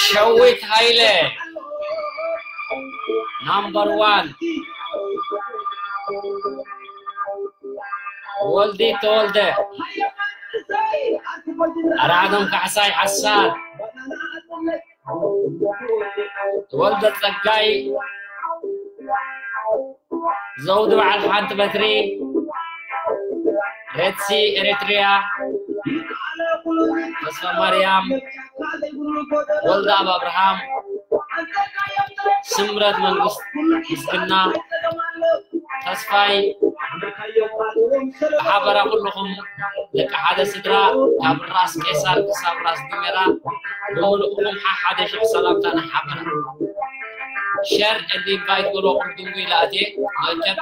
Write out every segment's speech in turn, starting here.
ሸዊት ሃይለ ናምበር ዋን። ወልዲ ተወልደ፣ ኣርዓዶም ካሕሳይ ሓሳን፣ ተወልደ ጸጋይ፣ ዘውዲ በዓል ሓንቲ በትሪ፣ ሬድሲ ኤሪትሪያ፣ ተስፋ ማርያም፣ ወልደ ኣብ ኣብርሃም፣ ስምረት መንግስት ምስግና፣ ተስፋይ ብሓበራ ኩልኹም ደቂ ሓደ ስድራ ካብ ራስ ቄሳር ክሳብ ራስ ዱሜራ ብምልእኹም ሓሓደ ሽሕ ሰላምታ ንሓበራ። ሸር ኤንድ ኢንቫይት በሎ ቅድም ኢለ ኣትየ መቸም።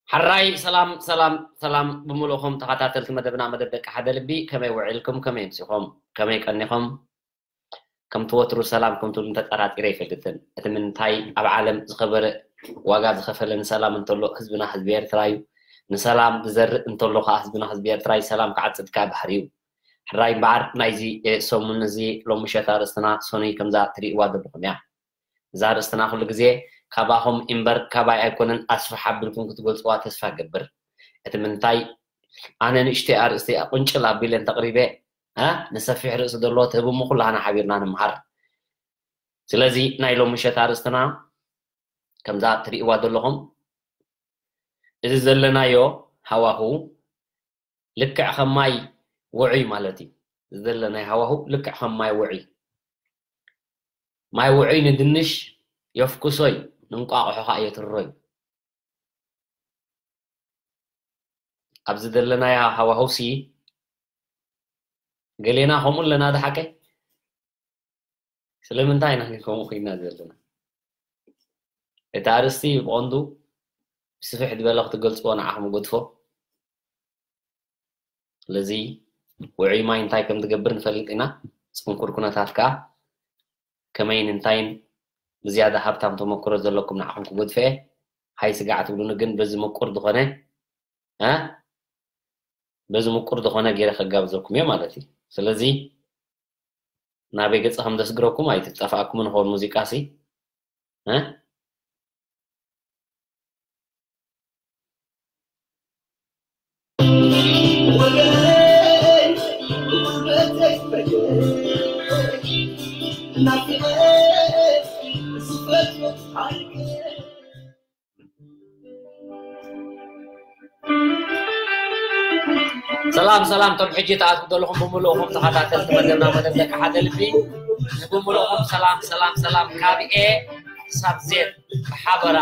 ሕራይ ሰላም ሰላም ሰላም ብምልእኹም ተኸታተልቲ መደብና፣ መደብ ደቂ ሓደ ልቢ። ከመይ ውዒልኩም? ከመይ ኣምሲኹም? ከመይ ቀኒኹም? ከምቲ ወትሩ ሰላም ከም ትብሉ ተጠራጢረ ኣይፈልጥን። እቲ ምንታይ ኣብ ዓለም ዝኸበረ ዋጋ ዝኸፈለ ንሰላም እንተሎ ህዝብና ህዝቢ ኤርትራ እዩ። ንሰላም ዝዘርእ እንተሎ ከዓ ህዝብና ህዝቢ ኤርትራ እዩ። ሰላም ክዓጽድ ከዓ ባሕሪ እዩ። ሕራይ እምበኣር ናይዚ ሰሙን እዚ ሎሚ ምሸት ኣርእስትና ሰኑይ ከምዛ ትርእይዋ ዘለኹም እያ። እዛ ኣርእስትና ኩሉ ግዜ ካባኹም እምበር ካባይ ኣይኮነን ኣስፍሕ ኣቢልኩም ክትገልጽዋ ተስፋ እገብር። እቲ ምንታይ ኣነ ንእሽተይ ኣርእስቲ ቁንጭል ኣቢለ እንተቕሪበ፣ እ፣ ንሰፊሕ ርእሲ ዘሎ ትህብሞ ኩላህና ሓቢርና ንምሃር። ስለዚ ናይ ሎሚ ምሸት ኣርእስትና ከምዛ ትርእይዋ ዘለኹም እዚ ዘለናዮ ሃዋሁ ልክዕ ከም ማይ ውዑይ ማለት እዩ። እዚ ዘለናዮ ሃዋሁ ልክዕ ከም ማይ ውዑይ። ማይ ውዑይ ንድንሽ የፍኩሶ እዩ፣ ንእንቋቑሖ ኸኣ የትርሮ እዩ። ኣብዚ ዘለናዮ ሃዋሁሲ ገሌና ከምኡ ኣለና ዶ ሓቀይ? ስለምንታይ ኢና ግን ከምኡ ኮይና ዘለና? እቲ ኣርእስቲ ብቐንዱ ብስፍሕ ዝበለ ክትገልጽዎ ንዓኹም እገድፎ። ስለዚ ውዑይ ማይ እንታይ ከም ዝገብር ንፈልጥ ኢና። ጽንኩር ኩነታት ከኣ ከመይን እንታይን ብዝያዳ ሃብታም ተመክሮ ዘለኩም ንዓኹም ክገድፎ እየ። ሃይ ስጋዕ ትብሉኒ ግን በዚ ምቁር ዝኾነ፣ እ? በዚ ምቁር ዝኾነ ገይረ ከጋብዘኩም እየ ማለት እዩ። ስለዚ ናበይ ገጸ ከም ዘስግረኩም ኣይትጠፍኣኩምን ኾን ሙዚቃ ሲ፣ እ? ሰላም ሰላም፣ ቶም ሕጂ ትኣትዉ ዘለኹም ብምልእኹም ተኸታተልቲ መደብና መደብ ደቂ ሓደ ልቢ፣ ንብምልእኹም ሰላም ሰላም ሰላም፣ ካብ ኤ ክሳብ ዜድ ብሓበራ።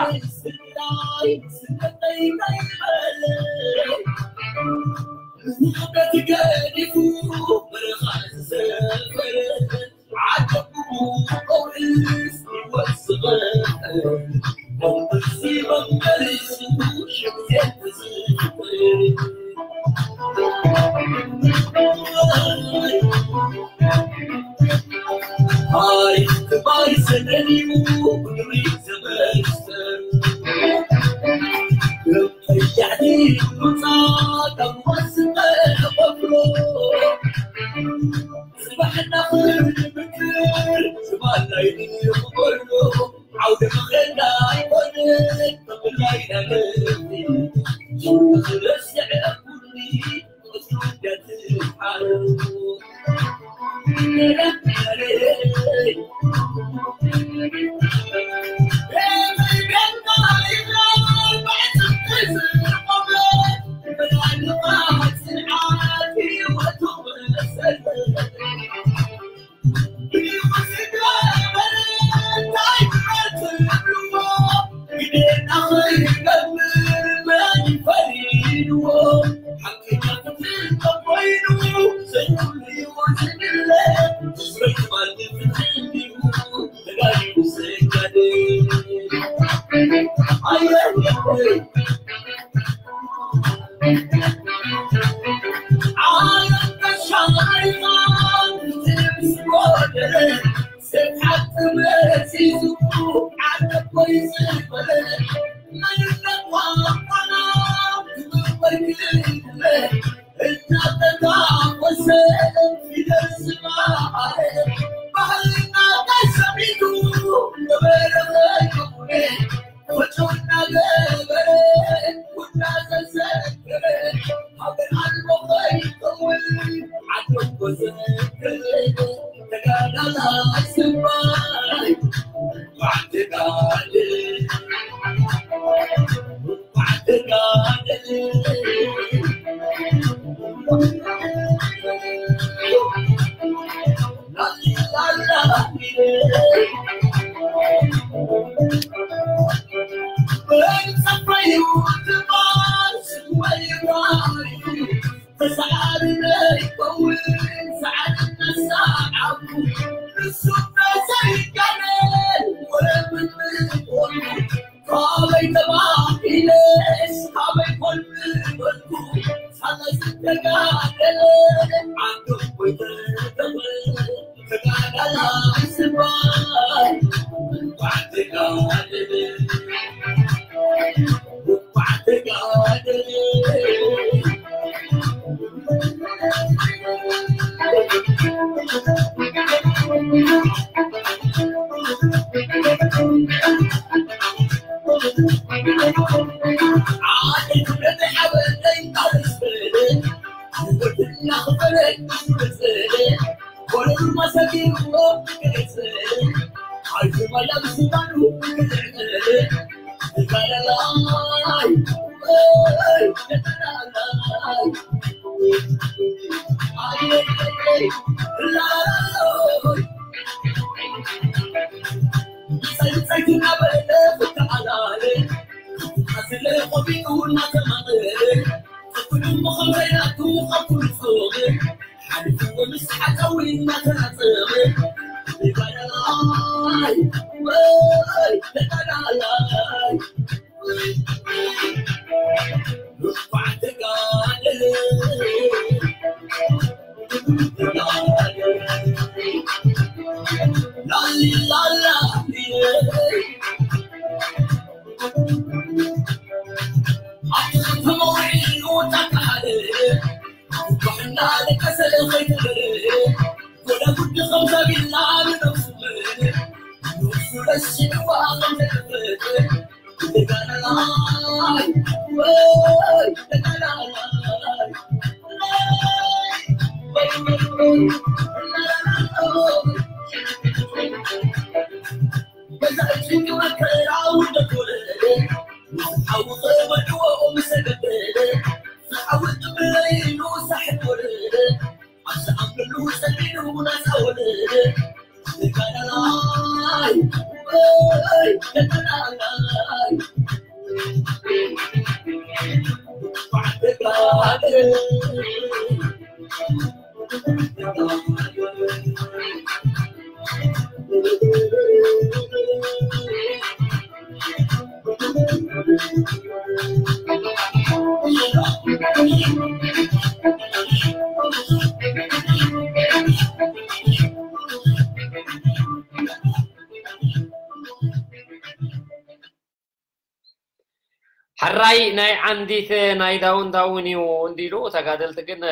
ሕራይ ናይ ዓንዲት ናይ ዳውን ዳውን እዩ እንዲሉ፣ ተጋደልቲ ግን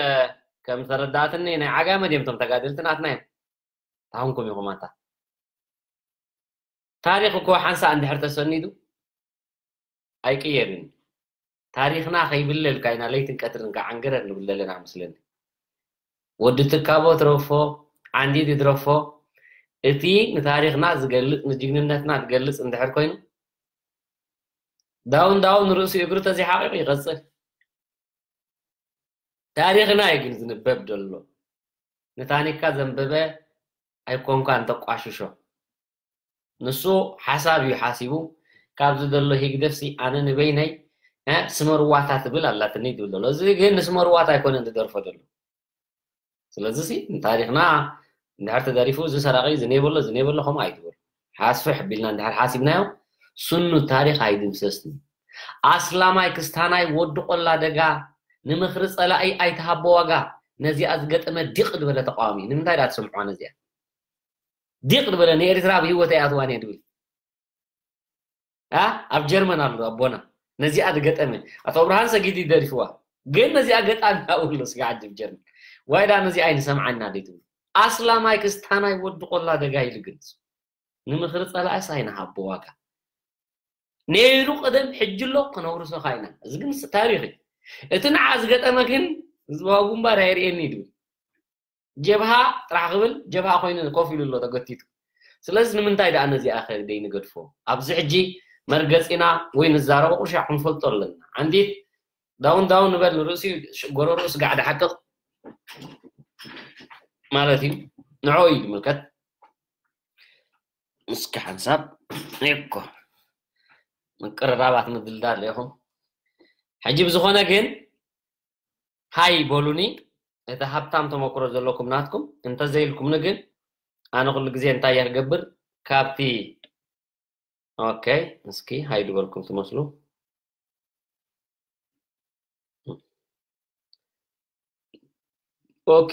ከም ተረዳእትኒ ናይ ዓጋመ ድዮም እቶም ተጋደልቲ ናትና እዮም። ታሁንኩም ኢኹም ኣታ። ታሪኽ እኮ ሓንሳእ እንድሕር ተሰኒዱ ኣይቅየርን። ታሪኽና ከይብለል ካይና ለይትን ቀትርን ከዓንገረር ንብል ዘለና መስለኒ። ወዲ ትካቦ ትረፎ፣ ዓንዲ ድድረፎ፣ እቲ ንታሪኽና ዝገልጽ፣ ንጅግንነትና ዝገልጽ እንድሕር ኮይኑ፣ ዳውን ዳውን ርእሱ እግሩ ተዘይሓቂቑ ይቐጽል። ታሪኽና እዩ ግን ዝንበብ ዘሎ። ንታኒካ ዘንበበ ኣይኮንኳን ተቋሽሾ። ንሱ ሓሳብ እዩ ሓሲቡ፣ ካብዚ ዘሎ ሂግደፍሲ ኣነ ንበይነይ፣ እ፣ ስመርዋታ ትብል ኣላትኒ ትብል ዘሎ። እዚ ግን ንስመርዋታ ኣይኮነን ዝደርፎ ዘሎ። ስለዚ ሲ ታሪኽና እንድሕር ተደሪፉ፣ እዚ ሰራቂ፣ እዚ ነይበሎ፣ እዚ ነይበሎ፣ ከምኡ ኣይትበሉ። ሓስፍሕ ኣቢልና እንድሕር ሓሲብናዮ፣ ስኑ ታሪኽ ኣይድምሰስን። ኣስላማይ ክስታናይ ወዲ ቆላ ደጋ ንምኽሪ ጸላኢ ኣይትሃቦ ዋጋ። ነዚኣ ዝገጠመ ዲቕ ዝበለ ተቃዋሚ። ንምንታይ ደኣ ትሰምዕዋ ነዚኣ? ዲቕ ዝበለ ንኤርትራ ብህይወት ኣይኣትዋን እየ ድብል። ኣ፣ ኣብ ጀርመን ኣሎ ኣቦና። ነዚኣ ዝገጠመ ኣቶ ኣብርሃን ሰጊድ ይደሪፍዋ። ግን ነዚኣ ገጣሚ ኣብሎ ስጋ ዓዲ ጀርመን። ዋይ ደኣ ነዚኣ ኣይንሰምዓና ደይ ትብሉ። ኣስላማይ ክስታናይ ወዲ ቆላ ደጋ ኢሉ ግን። ንምኽሪ ጸላእስ ኣይንሃቦ ዋጋ። ነይሩ ቀደም ሕጂ ኣሎ ክነውርሶ ካይና። እዚ ግን ስ-፣ ታሪኽ እዩ። እቲ ንዓ ዝገጠመ ግን ህዝባዊ ግንባር ኣይርእየኒ እዩ ድብል። ጀብሃ ጥራሕ ክብል ጀብሃ ኮይኑ ኮፍ ኢሉ ኣሎ ተገቲቱ። ስለዚ ንምንታይ ደኣ ነዚኣ ከ ደይ ንገድፎ? ኣብዚ ሕጂ መርገጺና ወይ ንዛረቦ ቁሻ ክንፈልጦ ኣለና። ዓንዲት ዳውን ዳውን ንበል ንርእሲ ሽ-፣ ጎረርኡ ስጋዕ ድሓቅቕ ማለት እዩ። ንዕኡ እዩ ዝምልከት። እስኪ ሓንሳብ እኮ ምቅርራባት ምድልዳል ኢኹም። ሕጂ ብዝኾነ ግን ሃይ በሉኒ። እቲ ሃብታም ተመክሮ ዘለኩም ናትኩም፣ እንተዘይልኩምኒ ግን ኣነ ኩሉ ግዜ እንታይ እየ ክገብር? ካብቲ፣ ኦኬ፣ እስኪ ሃይ ዝበልኩም ትመስሉ። ኦኬ፣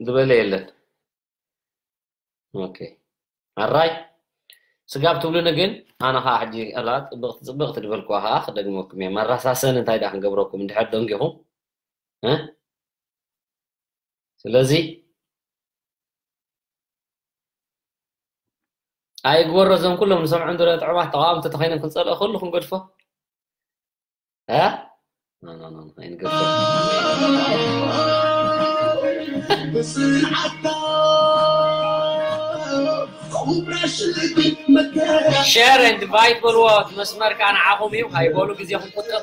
ዝበለ የለን። ኦኬ። ኣራይ፣ ስጋብ ትብሉኒ ግን፣ ኣነ ኸዓ ሕጂ፣ ኣላ፣ ጽብቕቲ፣ ጽብቕቲ ዝበልኩዋ ኸዓ ክደግመኩም እየ። መረሳሰኒ እንታይ ደኣ ክንገብረኩም፣ እንድሕር ደንጊኹም? እ? ስለዚ፣ ኣይግበሮ፣ እዞም ኩሎም ንሰምዖም ዘለና ጥዑማት ተቓወምቲ ተኾይኖም ክንጸልኦ ከሉ ክንገድፎ። እ? ኖ፣ ኖ፣ ኖ፣ ኖ፣ ኣይንገድፎ። ሸር ኤንድ ኢንቫይት በልዎ፣ እቲ መስመር ከዓ ንዓኹም እዩ። ሃይ በሉ፣ ግዜኹም ቁጥብ።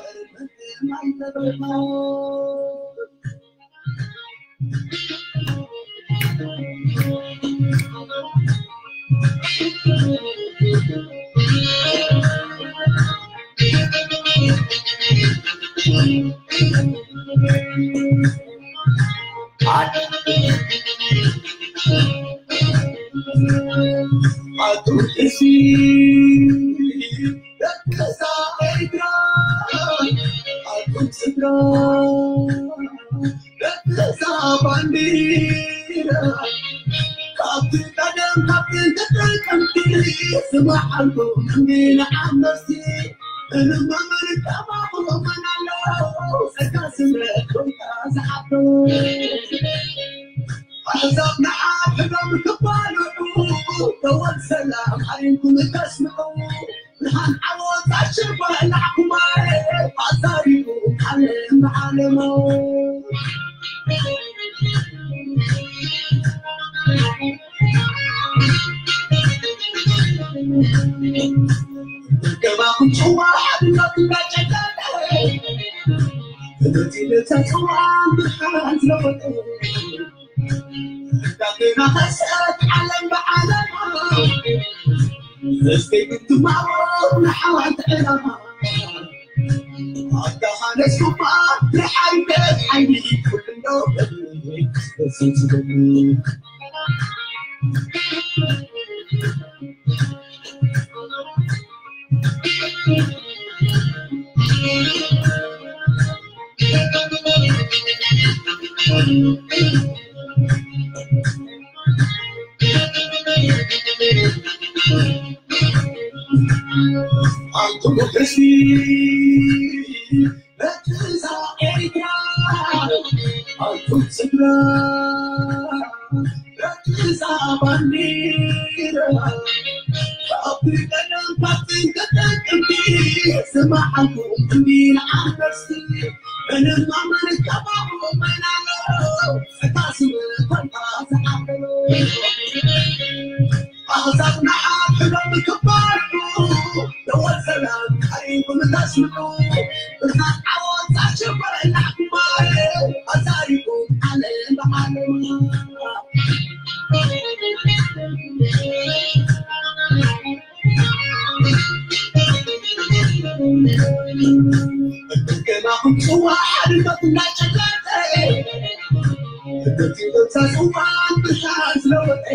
ኣቱም እዚ ደቀዛ ኤርትራ፣ ኣቱም ስድራ ደቀዛ ባንዲራ፣ ካብቲ ቀደም ካብ ጥንቲ ጥቅምቲ ዝመሓልኩም ንዓመስቲ ምንም መመን ከማኹም መን ኣሎ? ጸጋ ስለ ኮንካ ዝሓፍሩ ኣሕዛብ ንዓድሕዶም ክባልዑ፣ ደወል ሰላም ሓይንኩም ተስምዑ። ብርሃን ዓወት ኣሽር በላዕኩማ፣ ኣዛሪቡ ዓለም ብዓለሙ። ገባኹም ጽዋ ሓድነት እንዳጨለለ፣ በቲ ነታ ጽዋ ብርሃን ዝለወጠ። እንዳገና ተስአት ዓለም ብዓለማ፣ ህዝበይ ክትማወት ንሓዋት ዕላማ። ኣታ ኻነስኩማ ብሓይነት ሓይሊ ኩሉ እንዶ በሉ፣ በስንት በሉ። ኣንቱም ህዝቢ በትዛ ኤርትራ፣ ኣንቱም ስድራ በትዛ ባንዲራ፣ ካብ ቀደም ካብ ጥንቲ ጥቅምቲ ዝመሓልኩም እንዲና ኣንበስቲ፣ ምንም ኣመን ከባኹም መን ኣሎ? እታ ስም ኮንካ ዝሓፈሩ። ኣሕዛብ ንዓድሕዶም ክባልዑ፣ ደወል ሰላም ሓይንኩም ተስምዑ። ብርሃን ዓወት ኣሸበረ ላዕኩማ፣ ኣዛሪኩም ዓለም ብዓለማ። ገናኹም ጽዋ ሓድነት እናጨለጠ፣ በቲ እዛ ጽዋ ብርሃን ዝለወጠ።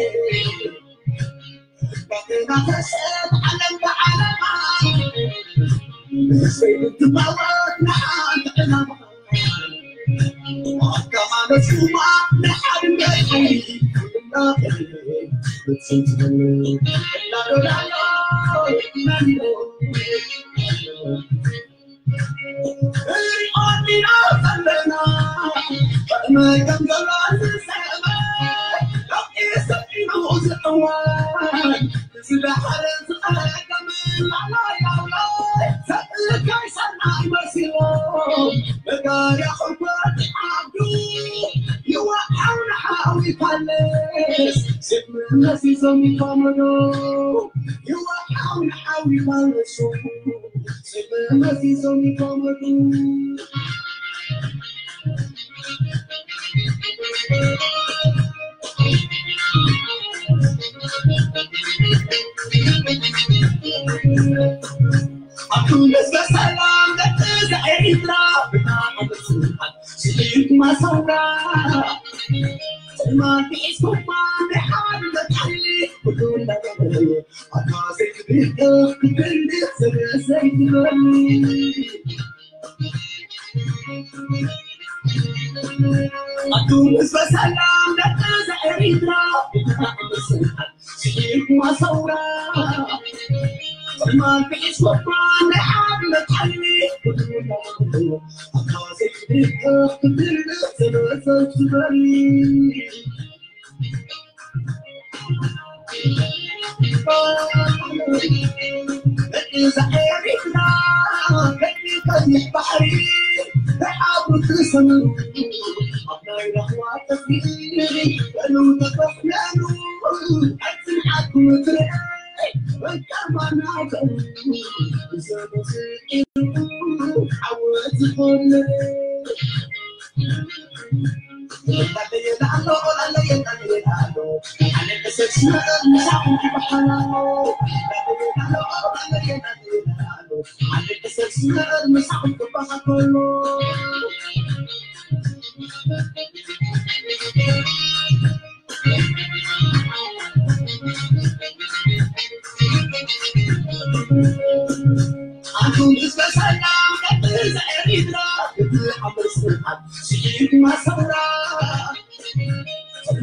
ማሰራ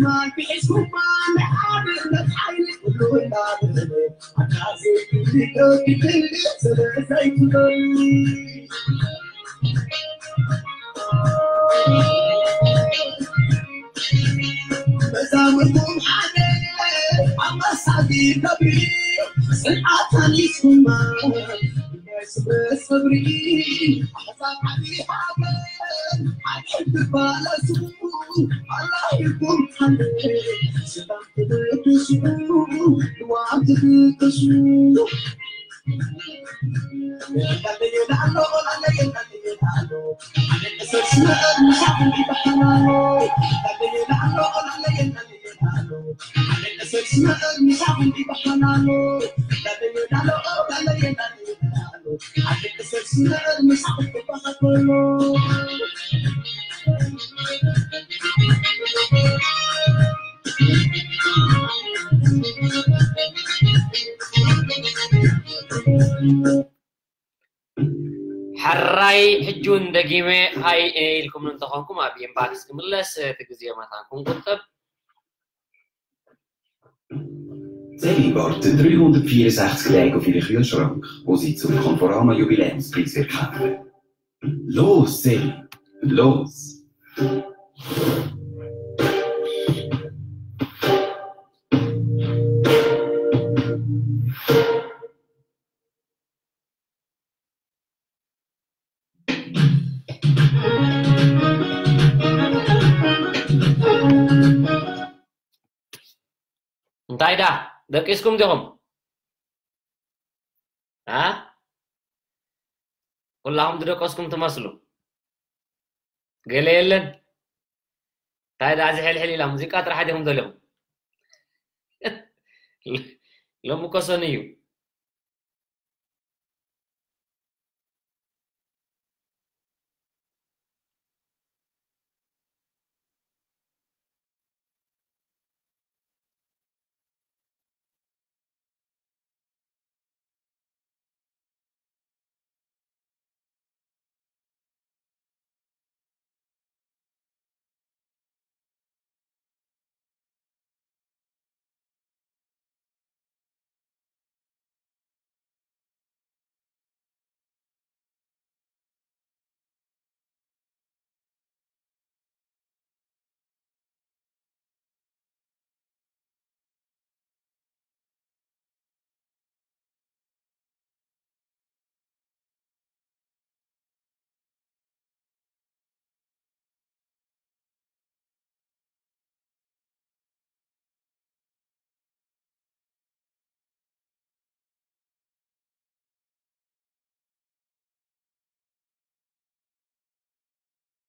ማን ቢሒዝኩማ ንሓድነት ሓይሊ ኩሉ ይላል ኣካዚ ክልተ ክልተ ዘይትበል መዛሙርኩም ሓደ ኣመሳጊ ከብሪ ስርዓት ኣኒስኩማ ስብሪ ኣሕዛብ ዓዲ ሃገር ሓደ ክባለሱ ኣላይኩም ሓደ ስላም ትብቅሱ ንዋም ትብቅሱ ሕራይ ሕጂ እውን ደጊመ ሃይ ኢልኩም እንተኾንኩም ኣብ ኢንባክስ ክምለስ እቲ ግዜ መታን ክንቁጥብ Sally wordt driehonderdvierenzeventig gelijk op je regiooschrank. Hoe ziet zo'n conforama jubileumsprijs weer gaan? Los, Sally. Los. እንታይ ዳ ደቂስኩም ዲኹም? ኣ ኩላኹም ዝደቀስኩም ትመስሉ። ገለ የለን። እንታይ ዳ እዚ ሕልሕል ኢላ ሙዚቃ ጥራሕ ዲኹም ደሊኹም? ሎሚ እኮ ሰኑ እዩ።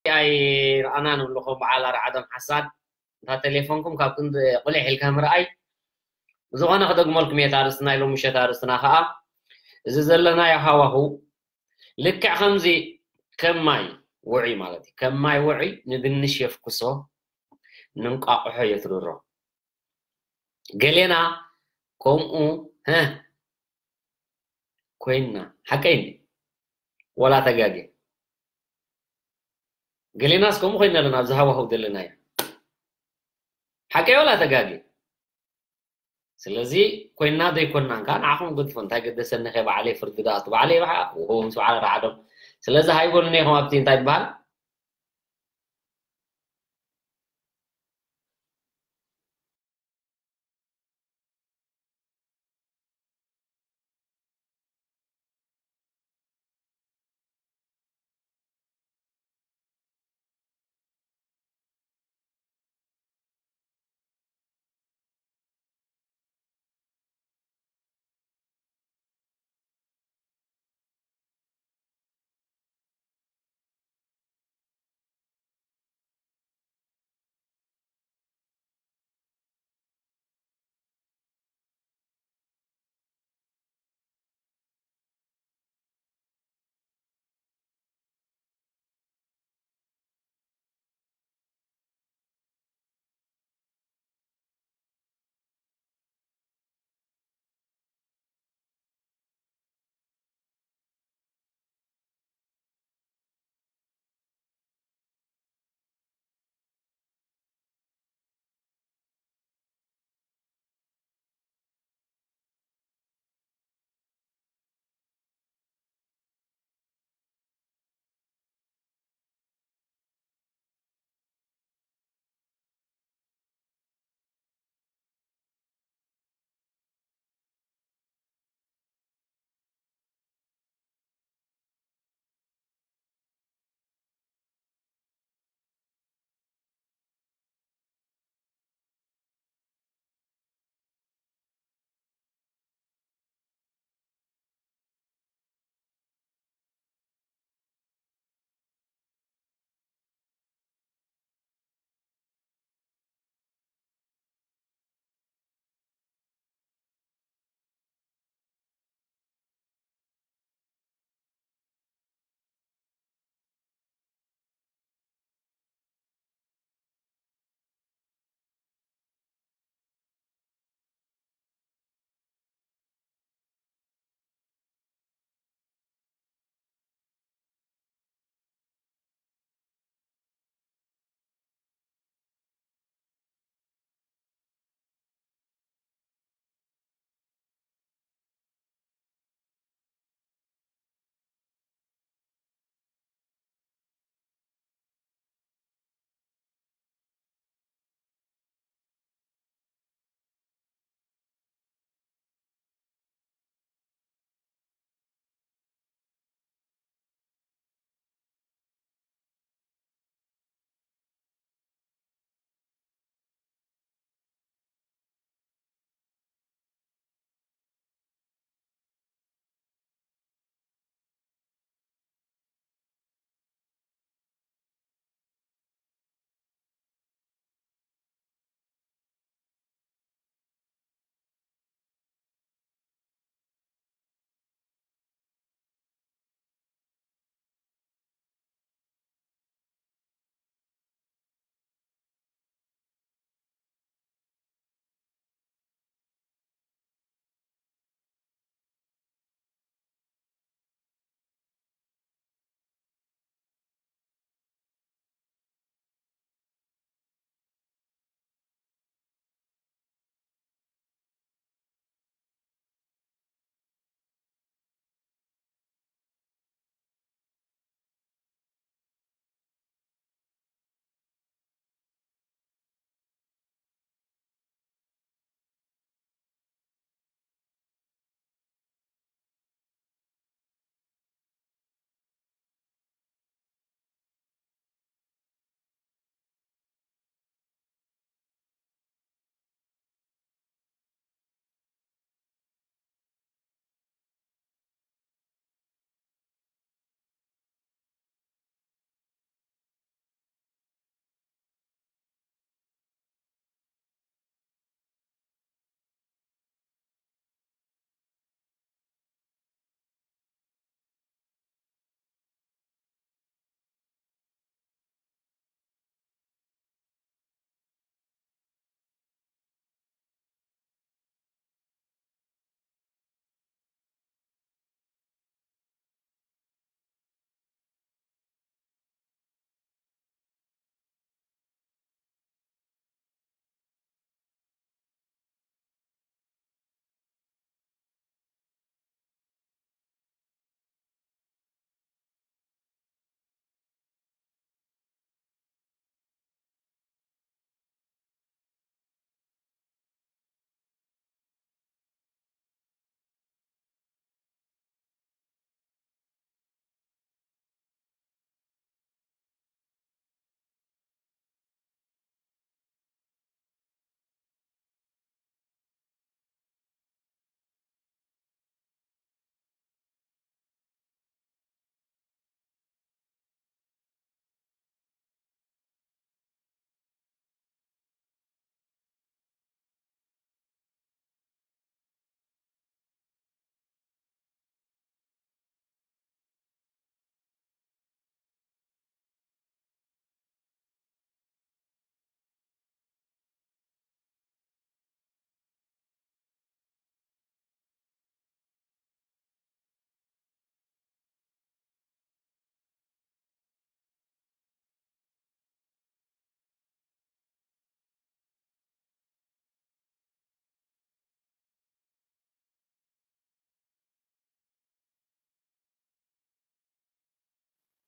ኣይረኣናን ኣለኹ በዓል ኣርዓዶም ሓሳድ። እታ ቴሌፎንኩም ካብ ክንዲ ቁሊሕ ኢልካ ምርኣይ ብዝኾነ ክደግመልኩም እየ። ኣርእስትና ኢሎም ምሸት ኣርእስትና ከዓ እዚ ዘለናዮ ሃዋሁ ልክዕ ከምዚ ከም ማይ ውዑይ ማለት እዩ። ከም ማይ ውዑይ ንድንሽ የፍኩሶ፣ ንንቋቑሖ የትርሮ። ገሌና ከምኡ ህ ኮይንና ሓቀይ ወላ ተጋጌ ገሌናስ ከምኡ ኮይና ኣለና ኣብዚ ሃዋህው ዘለና እዩ ሓቀይ ወላ ተጋጌ ስለዚ ኮይና ዘይኮናን ከዓ ንዓኹም ገድፎ እንታይ ገደሰኒ ከ ባዕለይ ፍርዲ ዳኣቱ ባዕለይ ባሓ ምስ በዓል ራዓዶም ስለዚ ሃይጎልኒ ኢኹም ኣብቲ እንታይ ዝበሃል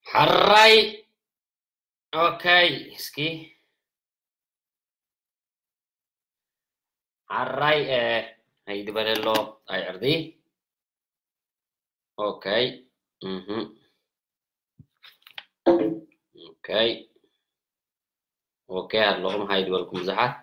ሕራይ። ኦኬ፣ እስኪ ሕራይ። እ፣ ኣይድበለ ኣሎ። ኣይ ዕርዲ። ኦኬ። እህ። ኦኬ። ኦኬ ኣለኹም፣ ሃይ ድበልኩም ብዙሓት።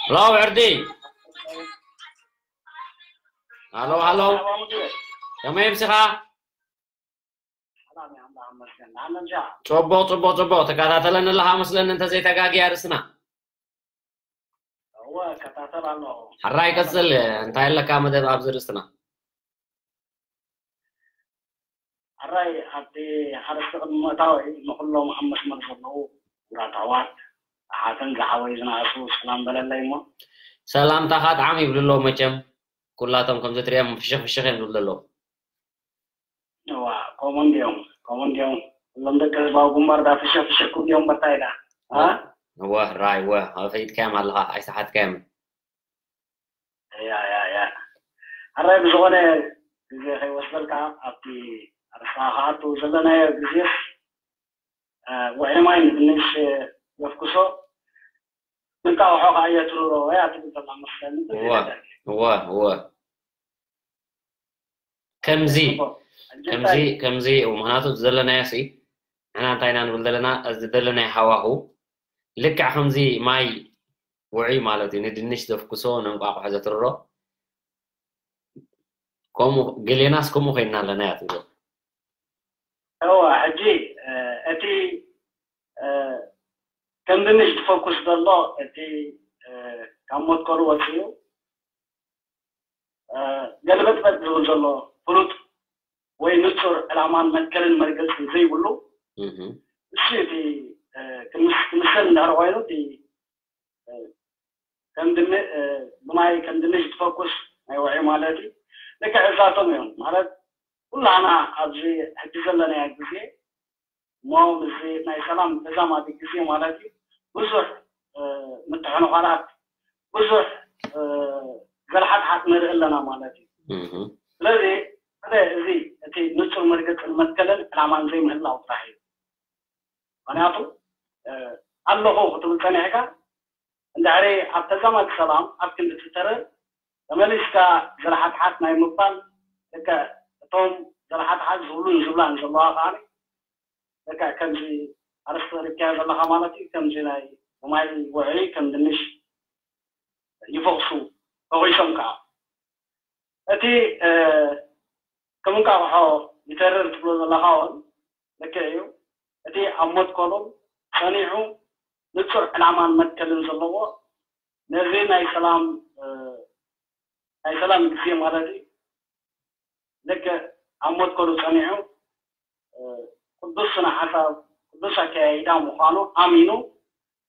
ሄሎ ዕርዲ። ሃሎ፣ ሃሎ። ከመይ ምሲኻ? ጽቡቕ፣ ጽቡቕ፣ ጽቡቕ። ተከታተለን ኣለኻ መስለኒ፣ እንተዘይተጋግያ ርስና። እወ፣ እከታተል ኣለኹ። ሕራይ ቀጽል፣ እንታይ ኣለካ መደብ ኣብዚ ርእስትና? ሕራይ፣ ኣብቲ ሓረስቲ ቅድሚ ምእታወይ ንኹሎም ኣብ መስመር ዘለዉ ውራት ኣሕዋት፣ ኣሓትን ዝሓወይ ዝነኣሱ ሰላም በለለይ እሞ። ሰላምታኻ ጥዓም ይብሉ ኣለዉ መቸም፣ ኩላቶም ከምዚ ትሪኦም ፍሽኽ ፍሽኽ እዮም ዝብሉ ዘለዉ። እዋ፣ ከምኡ እንድዮም፣ ከምኡ እንድዮም። ኩሎም ደቂ ህዝባዊ ግንባር ዳ ፍሽኽ ፍሽኽ ክብሉ እዮም በታ ኢላ። እ? እወ፣ ሕራይ፣ እወ፣ ኣፈሊጥካዮም ኣለኻ፣ ኣይሰሓትካዮምን። ያ፣ ያ፣ ያ። ሕራይ፣ ብዝኾነ ግዜ ከይወስደልካ፣ ኣብቲ ኣርእስታ ክኣቱ ዘለናዮ ግዜስ፣ እ፣ ውዒ ማይ ንድንሽ ዘፍኩሶ፣ እንቃቑሖ ከኣ የትርሮ እያ ትብል ዘላ መስለኒ። እወ፣ እወ፣ እወ። ከምዚ፣ ጽቡቕ። ከምዚ፣ ከምዚ፣ ምኽንያቱ ዘለናዮ ሲ፣ ንሕና እንታይ ኢና ንብል ዘለና፣ እዚ ዘለናዮ ሃዋሁ፣ ልክዕ ከምዚ ማይ ውዑይ ማለት እዩ፣ ንድንሽ ዘፍኩሶ፣ ንእንቋቑሖ ዘትርሮ፣ ከምኡ፣ ገሌናስ ከምኡ ኮይንና ኣለና እያ ትብሎ። እወ፣ ሕጂ፣ እ፣ እቲ፣ እ፣ ከም ድንሽ ዝፈኩስ ዘሎ፣ እቲ፣ እ፣ ካብ መትከሉ ወፂኡ፣ እ፣ ገልበጥበጥ ዝብል ዘሎ ፍሉጥ ወይ ንጹር ዕላማን መትከልን መርገጽን ዘይብሉ፣ እህ። እሱ እቲ፣ እ፣ ክምስ-፣ ክምሰል እንድሕር ኮይኑ፣ እቲ፣ እ፣ ከም ድን-፣ እ፣ ብማይ ከም ድንሽ ዝፈኩስ ናይ ውዒ ማለት እዩ። ልክዕ እዛቶም እዮም። ማለት፣ ኩላና ኣብዚ ሕጂ ዘለናዮ ግዜ፣ እሞ ምስዚ ናይ ሰላም ተዛማዲ ግዜ ማለት እዩ፣ ብዙሕ፣ እ፣ ምትሕንዃላት፣ ብዙሕ፣ እ፣ ዘልሓጥሓጥ ንርኢ ኣለና ማለት እዩ። እህ። ስለዚ፣ ሓደ እዚ እቲ ንጹር መርገጽን መትከልን ዕላማን ዘይምህላው ጥራሕ እዩ። ምኽንያቱ፣ እ፣ ኣለኹ ክትብል ጸኒሕካ፣ እንድሕሪ ኣብ ተዛማዲ ሰላም ኣብ ክንዲ ትተርር፣ ተመሊስካ ዘልሓጥሓጥ ናይ ምባል፣ ልክዕ እቶም ዘልሓጥሓጥ ዝብሉን ዝብላን ዘለዋ ከኣ፣ ልክዕ ከምዚ ኣርእስቲ ርክያ ዘለኻ ማለት እዩ፣ ከምዚ ናይ ብማይ ውዒ ከም ድንሽ ይፈኽሱ፣ ፈኺሶም ከኣ። እቲ፣ እ፣ ከም እንቃቑሖ ይተርር ትብሎ ዘለኻ እውን ልክዕ እዩ። እቲ ኣብ መትከሎም ጸኒሑ ንጹር ዕላማን መትከልን ዘለዎ፣ ነዚ ናይ ሰላም፣ እ፣ ናይ ሰላም ግዜ ማለት እዩ፣ ልክዕ ኣብ መትከሉ ጸኒሑ፣ እ፣ ቅዱስ ስነ ሓሳብ፣ ቅዱስ ኣከያይዳ ምዃኑ ኣሚኑ፣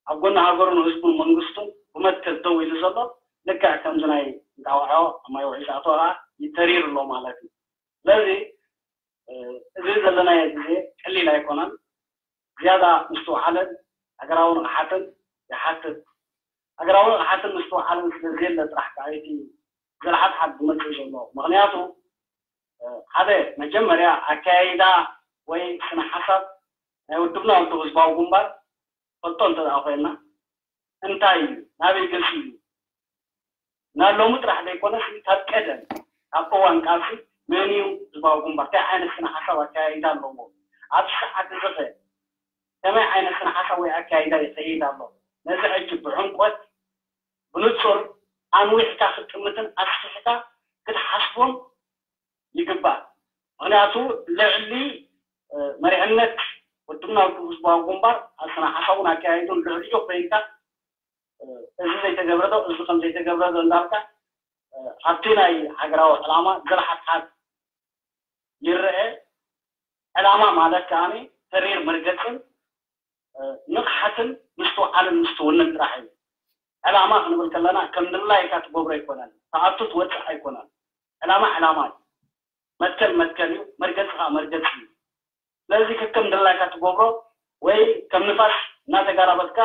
ኣብ ጎኒ ሃገሩን ህዝቡን መንግስቱን ብመትከል ደው ኢሉ ዘሎ፣ ልክዕ ከምዚ ናይ እንቃቑሖ ኣብ ማይ ውዒ ዝኣተወ ከኣ ይተሪር ኣሎ ማለት እዩ። ስለዚ፣ እ፣ እዚ ዘለናዮ ግዜ ቀሊል ኣይኮነን። ዝያዳ ምስትውዓልን ሃገራዊ ንቕሓትን ይሓትት። ሃገራዊ ንቕሓትን ምስትውዓልን ስለ ዘየለ ጥራሕ ከኣ እቲ ዘልሓጥሓጥ ዝመጽእ ዘሎ። ምኽንያቱ፣ እ፣ ሓደ መጀመርያ ኣከያይዳ ወይ ስነ ሓሳብ ናይ ውድብና ውድብ ህዝባዊ ግንባር ፈልጦ እንተ ደኣ ኮይንና፣ እንታይ እዩ? ናበይ ገጹ እዩ? ናብ ሎሚ ጥራሕ ዘይኮነስ፣ ካብ ቀደም፣ ካብ እዋን ቃልሲ መን እዩ ህዝባዊ ግንባር? እንታይ ዓይነት ስነ ሓሳብ ኣከያይዳ ኣለዎ? ኣብዚ ሰዓት እዚ ከ ከመይ ዓይነት ስነ ሓሳብ ወይ ኣካይዳ ይኸይድ ኣሎ? ነዚ ሕጂ ብዕምቆት ብንጹር ኣንዊሕካ ክትጥምትን ኣስፊሕካ ክትሓስቦን ይግባእ። ምኽንያቱ ልዕሊ መሪሕነት ውድብና ውድብ ህዝባዊ ግንባር ኣሰናሓሳውን ኣካያይዱን ልዕሊኡ ኮይንካ እዚ ዘይተገብረ ዶ እዚ ከም ዘይተገብረ ዶ እንዳልካ ኣብቲ ናይ ሃገራዊ ዕላማ ዝረሓትሓት ይረአ። ዕላማ ማለት ከኣ ተሪር መርገጽን ንቕሓትን ምስትውዓልን ምስትውንን ጥራሕ እዩ። ዕላማ ክንብል ከለና ከም ድላይካ ትገብሮ ኣይኮነን፣ ተኣቱ ትወፅእ ኣይኮነን። ዕላማ ዕላማ እዩ። መትከል መትከል እዩ፣ መርገፂ ከዓ መርገፂ እዩ። ስለዚ ከከም ድላይካ ትገብሮ ወይ ከም ንፋስ እናተጋላበጥካ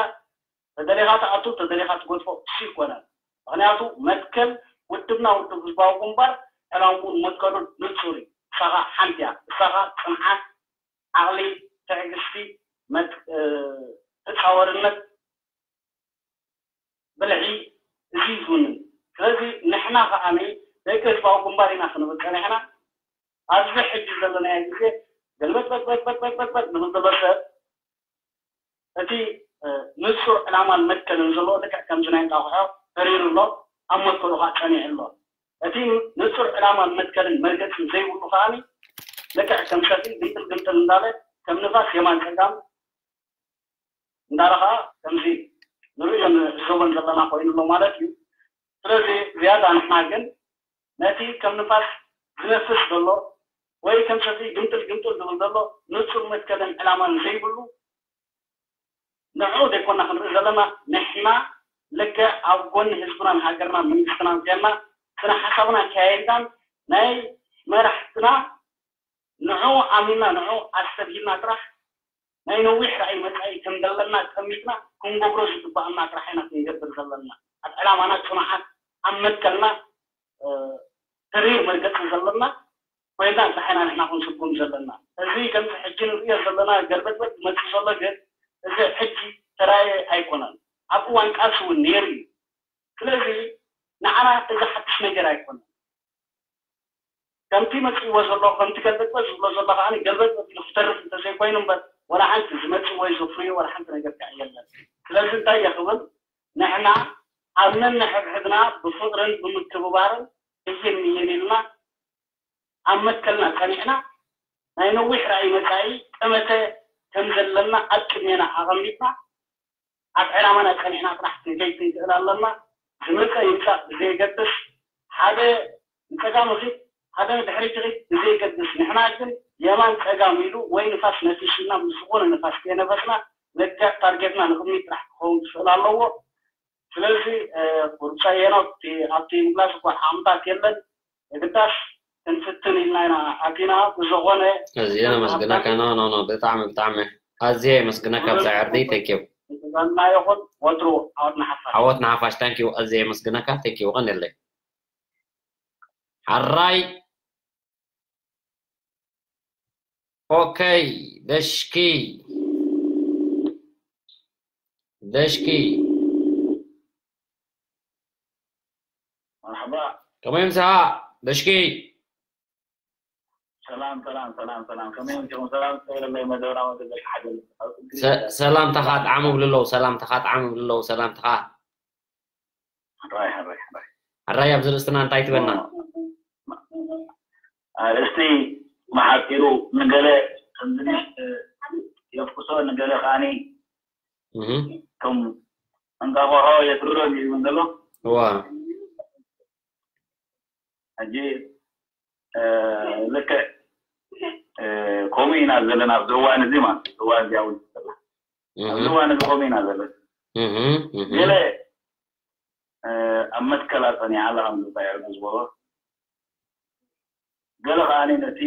ተደሊኻ ትኣቱ ተደሊኻ ትገድፎ እሱ ይኮነን። ምክንያቱ መትከል ውድብና ውድብ ህዝባዊ ግንባር ዕላምኡን መትከሉን ንፁር እዩ። እሳኻ ሓንቲ እያ። እሳኻ ፅንዓት፣ ዓቕሊ፣ ትዕግስቲ፣ መት- ተፃወርነት፣ ብልሒ፣ እዚ እዩ ዝውንን። ስለዚ ንሕና ከዓኒ ደቂ ህዝባዊ ግንባር ኢና ክንብል ፀኒሕና። ኣብዚ ሕጂ ዘለናዮ ግዜ ገልበጥበጥበጥበጥበጥበጥ ንብል ዘሎ ሰብ እቲ ንፁር ዕላማን መትከልን ዘለዎ ልክዕ ከምዚ ናይ እንጣቑሖ ተሪሩ ኣሎ፣ ኣብ መትከሉ ከዓ ፀኒዑ ኣሎ። እቲ ንፁር ዕላማን መትከልን መርገፅን ዘይብሉ ከዓኒ ልክዕ ከም ሰፍኢ ግምጥል ግምጥል እንዳለ ከም ንፋስ የማን ፀጋም እንዳለ ከዓ ከምዚ ንርእዮን ንዕዘቦን ዘለና ኮይኑ ኣሎ ማለት እዩ። ስለዚ ዝያዳ ንሕና ግን ነቲ ከም ንፋስ ዝነፍስ ዘሎ ወይ ከም ሰፍኢ ግምጥል ግምጥል ዝብል ዘሎ ንፁር መትከልን ዕላማን ዘይብሉ ንዕኡ ዘይኮና ክንርኢ ዘለና ንሕና ልክዕ ኣብ ጎኒ ህዝብናን ሃገርናን መንግስትናን ኮይንና ስነ ሓሳብና ኣካያይድናን ናይ መራሕትና ንዕኡ ኣሚንና ንዕኡ ኣስተብሂልና ጥራሕ ናይ ነዊሕ ራእይ መፃኢ ከም ዘለና ጠሚትና ክንገብሮ ዝግባኣና ጥራሕ ኢና ክንገብር ዘለና። ኣብ ዕላማና ፅኑዓት ኣብ መትከልና ተሪር መርገፂ ዘለና ኮይና ጥራሕ ኢና ንሕና ክንስጉም ዘለና። እዚ ከምዚ ሕጂ ንርእዮ ዘለና ገልበጥበጥ ዝመፅእ ዘሎ ግን እዚ ሕጂ ተራየ ኣይኮነን። ኣብ እዋን ቃልሲ እውን ነይሩ እዩ። ስለዚ ንዓና እዚ ሓድሽ ነገር ኣይኮነን። ከምቲ መፅእዎ ዘሎ ከምቲ ገልበጥበጥ ዝብሎ ዘሎ ከዓ ገልበጥበጥ ኢሉ ክተርፍ እንተዘይኮይኑ እምበር ዋላ ሓንቲ ዝመፅእ ወይ ዘፍርዮ ዋላ ሓንቲ ነገር ከዓ የለን። ስለዚ እንታይ እየ ክብል ንሕና ኣብ ነንሕድሕድና ብፍቕርን ብምክብባርን እይን እይን ኢልና ኣብ መትከልና ፀኒዕና ናይ ነዊሕ ራእይ መፃኢ ጠመተ ከም ዘለና ኣብ ቅድሜና ኣቐሚጥና ኣብ ዕላማና ፀኒዕና ጥራሕ ክንከይድ ክንክእል ኣለና። ዝመፀ ይምፃእ ብዘየገድስ ሓደ ንፀጋም ኺድ ሓደ ንድሕሪት ኺድ ብዘየገድስ ንሕና ግን የማን ፀጋም ኢሉ ወይ ንፋስ ነፊሱና ምስ ዝኾነ ንፋስ ከየነፈስና ልክዕ ታርጌትና ንቕድሚት ጥራሕ ክኸውን ክኽእል ኣለዎ። ስለዚ ቁርፀ የኖ ኣብቲ ምግላፅ እኳ ዓቕምታት የለን። የግዳስ ክንፍትን ኢልና ኢና ኣቲና ብዝኾነ ኣዝየ ነመስግነካ። ኖ ኖ ኖ ብጣዕሚ ብጣዕሚ ኣዝየ የመስግነካ። ብዛይ ዕርዲ ተኪው። ንስጋና ይኹን ወትሩ ዓወት ንሓፋሽ። ዓወት ንሓፋሽ። ታንኪው ኣዝየ የመስግነካ። ተኪው ቀንለይ ሓራይ። ኦኬ ደሽኪ ደሽኪ መርሓባ። ከመይ ምሳኻ ደሽኪ? ሰላም ሰላም ሰላም ሰላም፣ ከመይ ምሽኹም? ሰላም ተበለለይ መደብና ወደ ደቂ ሓደ ሰ- ሰላምታኻ ጣዕሙ ብልለው ሰላምታኻ ጣዕሙ ብልለው ሰላምታኻ። ሕራይ ሕራይ ሕራይ። ሕራይ ኣብዚ ርእስትና እንታይ ትበና? ኣርእስቲ መሓፂሩ ንገለ ከም ትንሽ የፍኩሶ ንገለ ከዓኒ እህ፣ ከም እንቃቆሖ የትርሮ እዩ ዘሎ። እዋ ሕጂ ልክዕ ከምኡ ኢና ዘለና ኣብዚ እዋን እዚ ማለት እዚ እዋን እዚ እውን ኣብዚ እዋን እዚ ከምኡ ኢና ዘለና። ገለ ኣብ መትከላ ፀኒዓ ኣላ ከም ዝበሃል ዝበሎ ገለ ከዓ ነቲ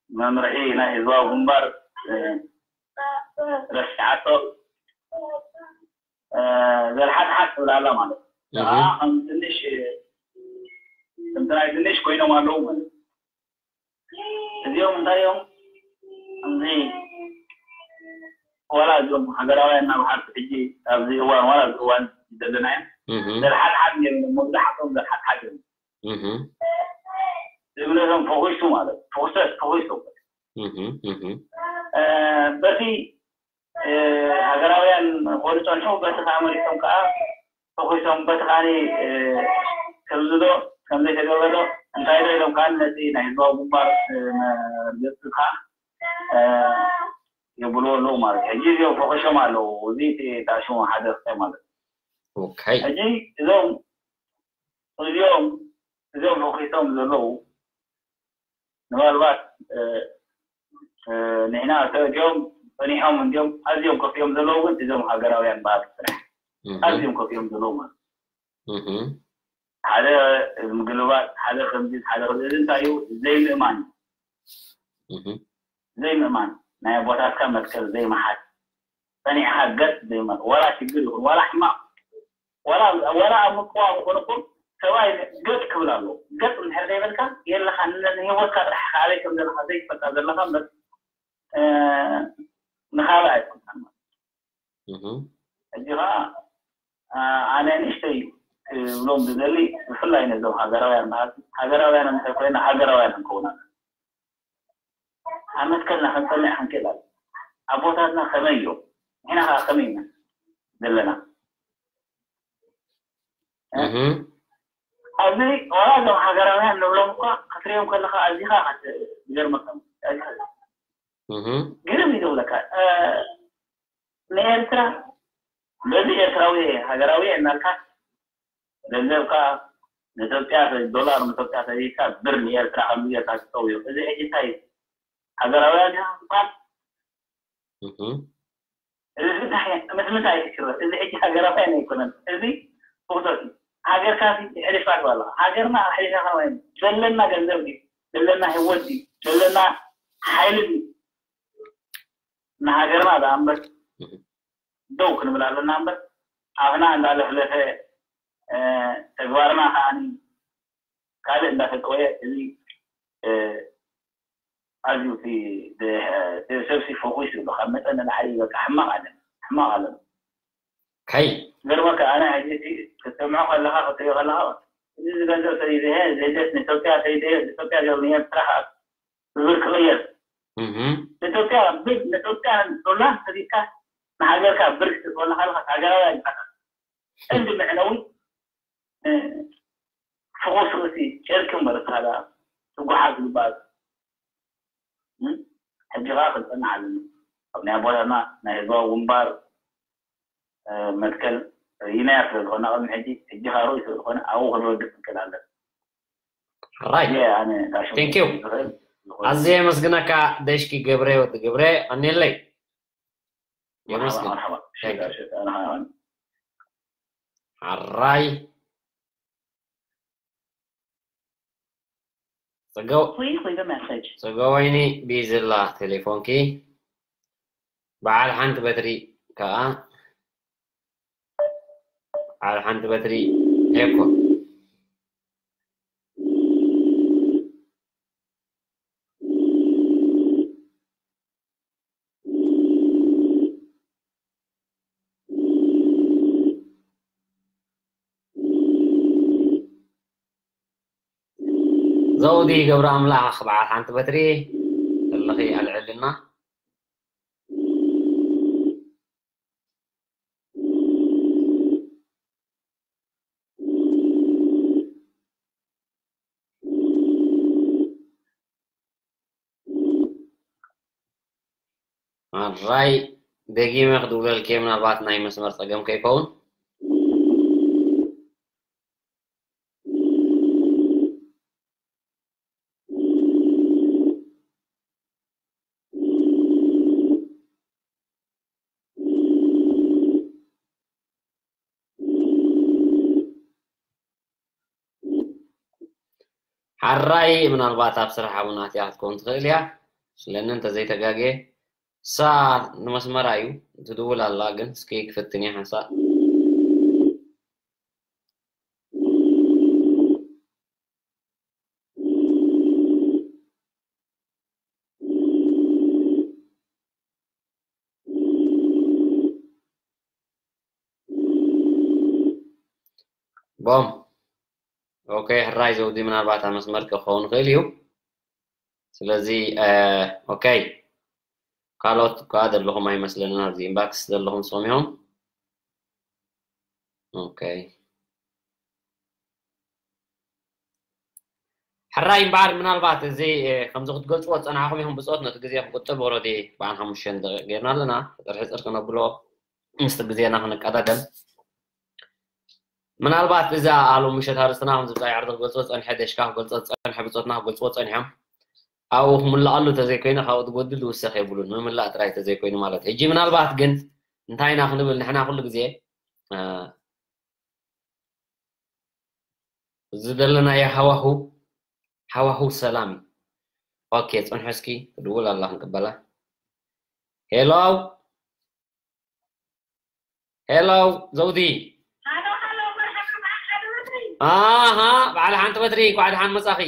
መምርሒ ናይ ህዝባዊ ግንባር ረሲዓቶ ዘልሓጥሓጥ ትብል ኣላ ማለት እዩ። ከዓ ከም ትንሽ ከምቲ ናይ ትንሽ ኮይኖም ኣለዉ ማለት እዩ። እዚኦም እንታይ እዮም? እዚ ዋላ እዚኦም ሃገራውያን ናብ ሓንቲ ሕጂ ኣብዚ እዋን ዋላ ኣብዚ እዋን ዘለናዮ ዘልሓጥሓጥ እዮም፣ መብዛሕትኦም ዘልሓጥሓጥ እዮም። እምነቶም ፈኺሱ ማለት ፈኹሰት ፈኺሱ በቲ ሃገራውያን ክኾኑ ጸንሑ፣ በቲ ከዓ መሪሶም ከዓ ተኾይሶም፣ በቲ ከዓ ከምዚ ዶ ከምዘይተገበረ ዶ እንታይ ዶ ኢሎም ከዓ ነቲ ናይ ህዝባዊ ግንባር ገጽ ከዓ የብልዎ ኣለዉ ማለት እዩ። ሕጂ እዚኦም ፈኾሾም ኣለዉ። እዚ እቲ ታሽሙ ሓደ ክታይ ማለት እዩ። ሕጂ እዞም እዚኦም እዚኦም ፈኺሶም ዘለዉ ምናልባት ንሕና እዚኦም ጸኒሖም እንዲኦም ኣዝዮም ከፊኦም ዘለዉ ግን እዞም ሃገራውያን በሃልቲ ስራሕ ኣዝዮም ከፊኦም ዘለዉ ማለት ሓደ ምግልባጥ ሓደ ከምዚ ሓደ ከምዚ እዚ እንታይ እዩ ዘይምእማን እዩ ዘይምእማን ናይ ኣቦታትካ መትከል ዘይምሓዝ ጸኒዕካ ገጽ ዘይምሓዝ ዋላ ሽግር ይኹን ዋላ ሕማቕ ዋላ ዋላ ኣብ ምቅዋም ይኹን እኮ ሰብኣይ ገጽ ክብል ኣለዎ ገጽ እንድሕር ዘይበልካ የለኻ ንህይወትካ ጥራሕ ካበይ ከም ዘለኻ ዘይትፈልጣ ዘለኻ እምበር ንኻልእ ኣይትፈልጣን ማለት ሕጂ ከዓ ኣነ ንእሽተይ ክብሎም ዝደሊ ብፍላይ ነዞም ሃገራውያን በሃልቲ ሃገራውያን እንተ ኮይና ሃገራውያን ክንከውን ኣለና ኣብ መትከልና ክንፀንዕ ክንክእል ኣለ ኣቦታትና ከመይ እዮም ንሕና ከዓ ከመይ ኢና ዘለና ኣብዚ ዋላ እዞም ሃገራውያን ንብሎም እኳ ክትሪኦም ከለካ ኣዚካ ዝገርመካ ግርም እዩ ዝብለካ ንኤርትራ በዚ ኤርትራዊ ሃገራዊ እናልካ ገንዘብካ ንኢትዮጵያ ዶላር ንኢትዮጵያ ሰዲድካ ብር ንኤርትራ ከምዚ ጌርካ ትጠውዮ እዚ ሕጂ እንታይ እዩ ሃገራውያን ኢና ዝበሃል እዚ እንታይ ምስ ምንታይ እዩ ክሽረፍ እዚ ሕጂ ሃገራውያን ኣይኮነን እዚ ህውተት እዩ ሃገርካ ሕሊፍካ ኣለካ ሃገርና ኣሕሊፍና ዘለና ገንዘብ ድዩ ዘለና ህይወት ድዩ ዘለና ሓይሊ ድዩ ንሃገርና ደኣ እምበር ደው ክንብል ኣለና እምበር ኣፍና እንዳለፍለፈ ተግባርና ከዓ ካልእ እንዳተጠወየ እዚ ኣዝዩ እቲ ሰብሲ ፈኹስ ይብሎ ካብ መጠን ንላዕሊ በቃ ሕማቕ ኣለና ሕማቕ ኣለና ከይ ገርመካ ኣነ ሕጂ ክትሰምዖ ከለካ ክትሪኦ ከለካ እዚ ዝገንዘብ ሰይደ ዘይደስ ንኢትዮጵያ ሰይደ ኢትዮጵያ ገር ንኤርትራ ከዓ ብብር ክቕየር ንኢትዮጵያ ብር ንኢትዮጵያ ዶላር ሰዲድካ ንሃገርካ ብር ክትኮና ከለካ ሃገራዊ ኣይበሃል ቀንዲ መዕነዊ ፍቑስ ርእሲ ጨርቂ እምበር ካላ ትጓሓፍ ዝግባእ ሕጂ ከዓ ክንፀንሕ ኣለና ኣብ ናይ ኣቦታትና ናይ ህዝባዊ ግንባር መትከል ርኢናያ ስለ ዝኾነ ቅድሚ ሕጂ ሕጂ ከዓ ርኡይ ስለ ዝኾነ ኣብኡ ክንረድእ ክንክእል ኣለና ራይት ቴንክ ዩ ኣዝየ የመስግነካ ደሽኪ ገብረ ወዲ ገብረ ቀኒለይ የመስግን ሓራይ Please leave a message. ጸገወይኒ ቢዝላ ቴሌፎንኪ በዓል ሓንቲ በትሪ ከኣ በዓል ሓንቲ በትሪ ሄኮ ዘውዲ ገብረ ኣምላኽ በዓል ሓንቲ በትሪ ከለኺ ኣልዕልና ኣራይ ደጊመ ክድውለልኪ ምናልባት ናይ መስመር ፀገም ከይከውን ሓራይ ምናልባት ኣብ ስራሕ እውን ኣትያ ክትከውን ትኽእል እያ ስለኒ እንተዘይተጋግየ እሳ ንመስመራ እዩ ትድውል ኣላ ግን እስኪ ክፍትን እየ ሓንሳእ ቦም ኦኬ ሕራይ ዘውዲ ምናልባት ኣብ መስመር ክኸውን ይኽእል እዩ ስለዚ ኦኬ፣ ካልኦት ከኣ ዘለኹም ኣይመስለንን ኣብዚ ኢንባክስ ዘለኹም ንስኹም ኢኹም። ኦኬ፣ ሕራይ እምበኣር ምናልባት እዚ ከምዚ ክትገልፅዎ ዝፀናሕኹም ኢኹም ብፆት ነቲ ግዜ ክቁጥብ ወረዲ በዓል ሓሙሽተ ደቂቕ ጌርና ኣለና። ሕፅር ሕፅር ክነብሎ ምስቲ ግዜና ክንቀዳደም። ምናልባት እዛ ኣሉ ምሸት ኣርስትና ከም ዝብፃ ያዕርዶ ክገልፅዎ ዝፀንሐ ደሽካ ክገልፅዎ ዝፀንሐ ብፆትና ክገልፅዎ ፀኒሖም ኣብኡ ክምልኣሉ ተዘይኮይነ ካብኡ ትጎድል ዝውሰኽ የብሉን። ምምላእ ጥራይ ተዘይኮይኑ ማለት ሕጂ ምናልባት ግን እንታይ ኢና ክንብል ንሕና ኩሉ ግዜ እዚ ዘለናዮ ሃዋሁ ሃዋሁ ሰላም እዩ። ኦኬ፣ ጽንሑ እስኪ ክድውል ኣላ ክንቅበላ። ሄሎ ሄሎ፣ ዘውዲ። ኣሃ፣ በዓል ሓንቲ በትሪ እንኳዕ ደሓን መጻኺ።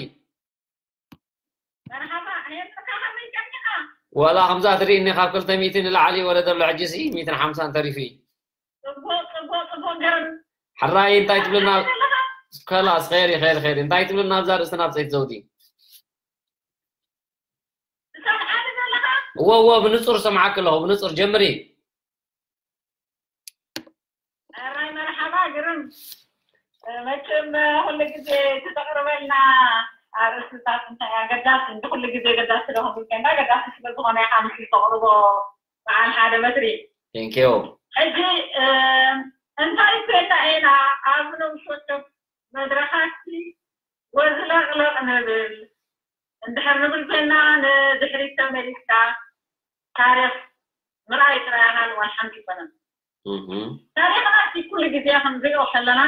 ዋላ ከምዛ ትርእኒ ካብ ክልተ ሚእቲ ንላዕሊ ወረ ዘሎ ሕጂ ሲ ሚእትን ሓምሳን ተሪፉ እዩ። ሕራይ እንታይ ትብልና? ከላስ ኸይሪ ኸይሪ ኸይሪ እንታይ ትብልና ኣብዛ ርእስትና ብፀይቲ ዘውዲ? እዎ እዎ፣ ብንፁር ሰምዓክ ኣለኹ፣ ብንፁር ጀምሪ። ሕራይ መርሓባ ግርም። መቸም ኩሉ ግዜ እቲ ተቕርበልና ኣርእስትታት እንታይ ኣገዳሲ እንዲ ኩሉ ግዜ ኣገዳሲ ዶ ክንብል ከና ኣገዳሲ ስለ ዝኾነ ኢኻ ምስ ተቕርቦ በዓል ሓደ በትሪ። Thank you። ሕጂ እንታይ ኮይና ኢና ኣብ ነብሲ ወከፍ መድረኻትሲ ወዝለቕለቕ ንብል እንድሕር ንብል ኮይና ንድሕሪት ተመሊስካ ታሪኽ ምርኣይ ጥራይ ኣናል ዋልሓንቲ ይኮነን። ታሪኽና እቲ ኩሉ ግዜ ክንሪኦ ከለና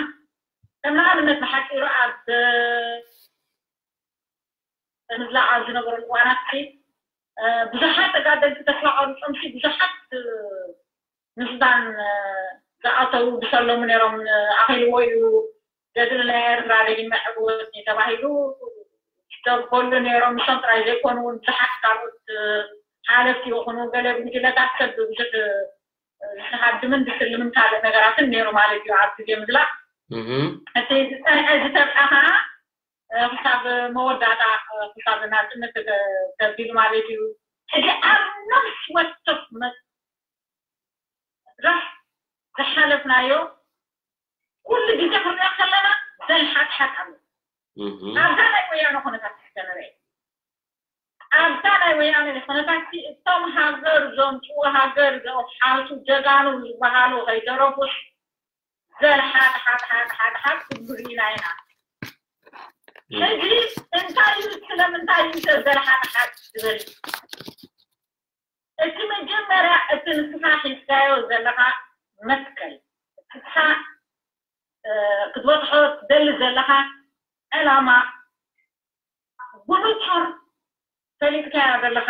ከም ንኣብነት ብሓፂሩ ኣብ ምዝላቕ ኣብ ዝነበሩ እዋናት ብዙሓት ተጋደልቲ ተስፋ ቆሪፆም ብዙሓት ምስዳን ዝኣተዉ ብሰለሙ ነይሮም ኣኺልዎ እዩ ገድሊ ናይ ኤርትራ ደጊመ ዕግወት ተባሂሉ ዝተበሉ ነይሮም። ንሶም ጥራይ ዘይኮኑ እውን ብዙሓት ካልኦት ሓለፍቲ ይኹኑ ገለ ጉጅለታት ሰብ ብዙሕ ዝሃድምን ዝስልምን ካልእ ነገራትን ነይሩ ማለት እዩ ኣብ ግዜ ምዝላቕ። እቲ ዝፀንሐ ዝተብዐ ከዓ ክሳብ መወዳእታ ክሳብ ናፅነት ተቢሉ ማለት እዩ። ሕጂ ኣብ ነፍሲ ወከፍ መድረኽ ዝሓለፍናዮ ኩሉ ግዜ ክንሪኦ ከለና ዘልሓጥሓጥ ኣሎ። ኣብዛ ናይ ወያነ ኩነታት ተንርኢ ኣብዛ ናይ ወያነ ኩነታት እቶም ሃገር ዘምፅኡ ሃገር ዘውሓሱ ጀጋኑ ዝበሃሉ ከይደረፉስ ዘልሓጥሓጥሓጥሓጥሓጥ ክብሉ ርኢና ኢና። ሕዚ እንታይ እዩ ስለምንታይ እዩ ዘልሓጥሓጥ ዝብል? እቲ መጀመርያ እቲ ንስኻ ሒዝካዮ ዘለኻ መትከል እቲ ንስኻ ክትበፅሖ ትደሊ ዘለኻ ዕላማ ብንፁር ፈሊጥካያ ዘለኻ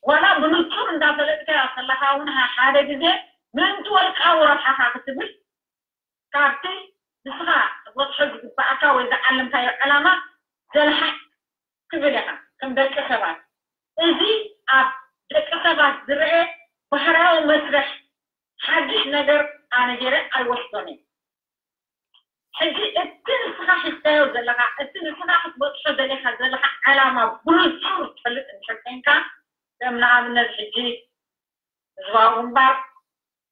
ዋላ ብንፁር እንዳፈለጥካያ ከለኻ እውን ሓደ ግዜ ምእንቲ ወልቃዊ ረብሓኻ ክትብል ካብቲ ንስኻ ክትበፅሖ ዝግባኣካ ወይ ዝዓለምካዮ ዕላማ ዘልሓጥ ትብል ኢኻ። ከም ደቂ ሰባት እዚ ኣብ ደቂ ሰባት ዝረአ ባህርያዊ መስርሕ ሓድሽ ነገር ኣነ ገይረ ኣይወስዶን እየ። ሕጂ እቲ ንስኻ ሒዝካዮ ዘለኻ እቲ ንስኻ ክትበፅሖ ደሊኻ ዘለኻ ዕላማ ብንፁር ትፈልጥ እንድሕር ኮይንካ ከም ንኣብነት ሕጂ ህዝባዊ ግንባር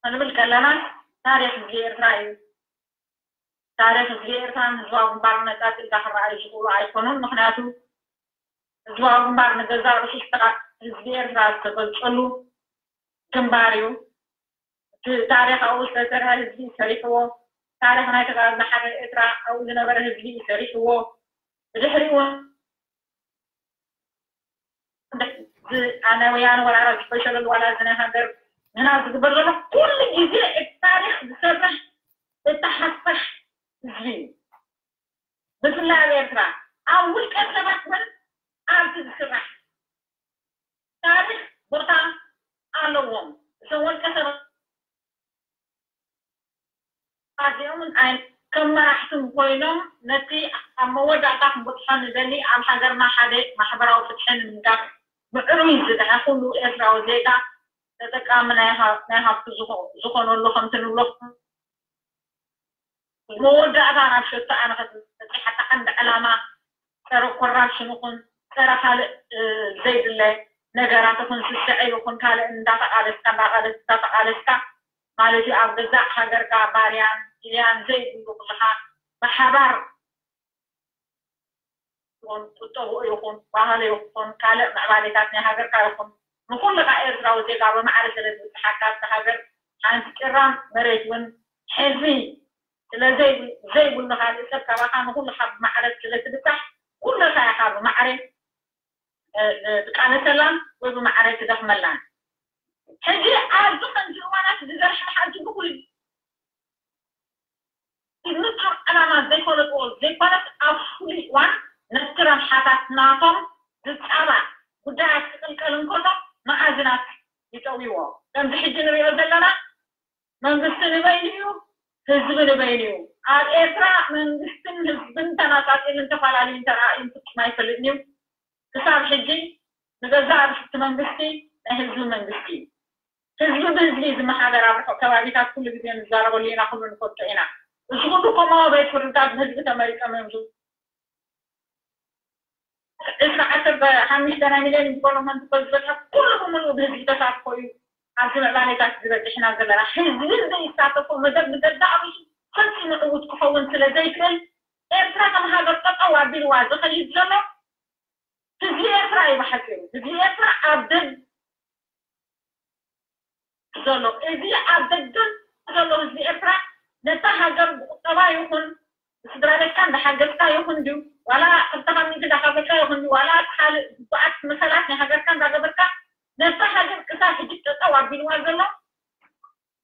ክንብል ከለና ታሪኽ ህዝቢ ኤርትራ እዩ። ታሪኽ ህዝቢ ኤርትራን ህዝባዊ ግንባርን ነፃፂልካ ክረኣዩ ዝኽእሉ ኣይኮኑን። ምክንያቱ ህዝባዊ ግንባር ንገዛእ ርእሱ ጥራሕ ህዝቢ ኤርትራ ዝተፈልጠሉ ግንባር እዩ። እቲ ታሪኽ ኣብኡ ዝተሰርሐ ህዝቢ ሰሪሕዎ፣ ታሪኽ ናይ ተጋድሎ ሓርነት ኤርትራ ኣብኡ ዝነበረ ህዝቢ ሰሪሕዎ። ብድሕሪኡ እውን ናይ ወያነ ወራራት ዝፈሸለሉ ዋላ እዚ ናይ ሃገር ምህናፅ ዝግበር ዘሎ ኩሉ ግዜ እቲ ታሪኽ ዝሰርሕ እቲ ሓፋሽ ህዝቢ እዩ። ብፍላይ ኣብ ኤርትራ ኣብ ውልቀ ሰባት እውን ኣብቲ ዝስራሕ ታሪኽ ቦታ ኣለዎም። እዞም ውልቀ ሰባት ኣዚኦም ከም መራሕቲ ኮይኖም ነቲ ኣብ መወዳእታ ክንበፅሖ ንደሊ ኣብ ሃገርና ሓደ ማሕበራዊ ፍትሒ ንምምጋብ ምዕሩይ ዝደሐ ኩሉ ኤርትራዊ ዜጋ ተጠቃሚ ናይ ሃብቱ ዝኾነሉ ከምቲ ንብሎ መወዳእታ ናብ ሸቶ ኣነ ከተብፅሕ ሓታ ቀንዲ ዕላማ ፀረ ኮራፕሽን ይኹን ጸረ ካልእ ዘይድለ ነገራት ይኹን ስስዐ ይኹን ካልእ እንዳተቓለስካ እንዳቓለስ እንዳተቓለስካ ማለት እዩ ኣብ ገዛእ ሃገርካ ባርያን ኢልያን ዘይብሉ ኩልኻ ብሓባር ይኹን ቁጠብኡ ይኹን ባህሊ ይኹን ካልእ ምዕባሌታት ናይ ሃገርካ ይኹን ንኩልኻ ኤርትራዊ ዜጋ ብማዕረ ስለ ዝብጽሓካ ኣብቲ ሃገር ሓንቲ ጭራም መሬት እውን ሕልፊ ስለ ዘይብሉ ካልእ ሰብ ካባኻ ንኩልኻ ብማዕረ ስለ ትብጻሕ ኩልኻ ኢኻ ብማዕረ ትቃለሰላን ወይ ብማዕረ ትደኽመላን። ሕጂ ኣብዚ ከምዚ እዋናት ዝዘርሕና ሓንቲ ብኩሉ ንጹር ዕላማ ዘይፈለጥዎ ዘይኮነስ ኣብ ፍሉይ እዋን ነቲ ረብሓታት ናቶም ዝጻባእ ጉዳያት ክቕልቀል እንከሎ መኣዝናት ይጠውይዎ። ከምዚ ሕጂ ንሪኦ ዘለና መንግስቲ ንበይኑ እዩ፣ ህዝቢ ንበይኑ እዩ። ኣብ ኤርትራ መንግስትን ህዝብን ተናጻጺልን ተፈላለዩን ተራእዩን ፍጹም ኣይፈልጥን እዩ። ክሳብ ሕጂ ንገዛእ ርእሱ እቲ መንግስቲ ናይ ህዝቢ መንግስቲ እዩ። ህዝቢ ብህዝቢ እዩ ዝመሓደር። ኣብ ርሑቕ ከባቢታት ኩሉ ግዜ ንዛረበሉ ኢና፣ ኩሉ ንፈልጦ ኢና። እዚ ኩሉ ኮማዊ ቤት ፍርድታት ብህዝቢ ተመሪጾም እዮም ዝው ዕስራ ዓሰርተ ሓሙሽተ ናይ ሚልዮን ዲቨሎፕመንት እኮ ዝበፅሐ ኩሉ ብምሉኡ ብህዝቢ ተሳትፎ እዩ። ኣብዚ ምዕባሌታት ዝበፅሕና ዘለና ህዝቢ ዘይሳተፎ መደብ ንገዛእ ርእሱ ፈፂሙ ዕዉት ክኸውን ስለ ዘይክእል ኤርትራ ከም ሃገር ጠጠው ኣቢልዋ ዝኸይድ ዘሎ ህዝቢ ኤርትራ እዩ ብሓፂሩ። ህዝቢ ኤርትራ ኣብ ደግ ዘሎ እዚ ኣብ ደገ ዘሎ ህዝቢ ኤርትራ ነታ ሃገር ብቁጠባ ይኹን ብስድራ ቤትካ እንዳሓገዝካ ይኹን ድዩ ዋላ ክልተ ካብ ሚእቲ እንዳኸፈልካ ይኹን ድዩ ዋላ ካልእ ግቡኣት መሰላት ናይ ሃገርካ እንዳገበርካ ነታ ሃገር ክሳብ ሕጂ ጠጠው ኣቢልዋ ዘሎ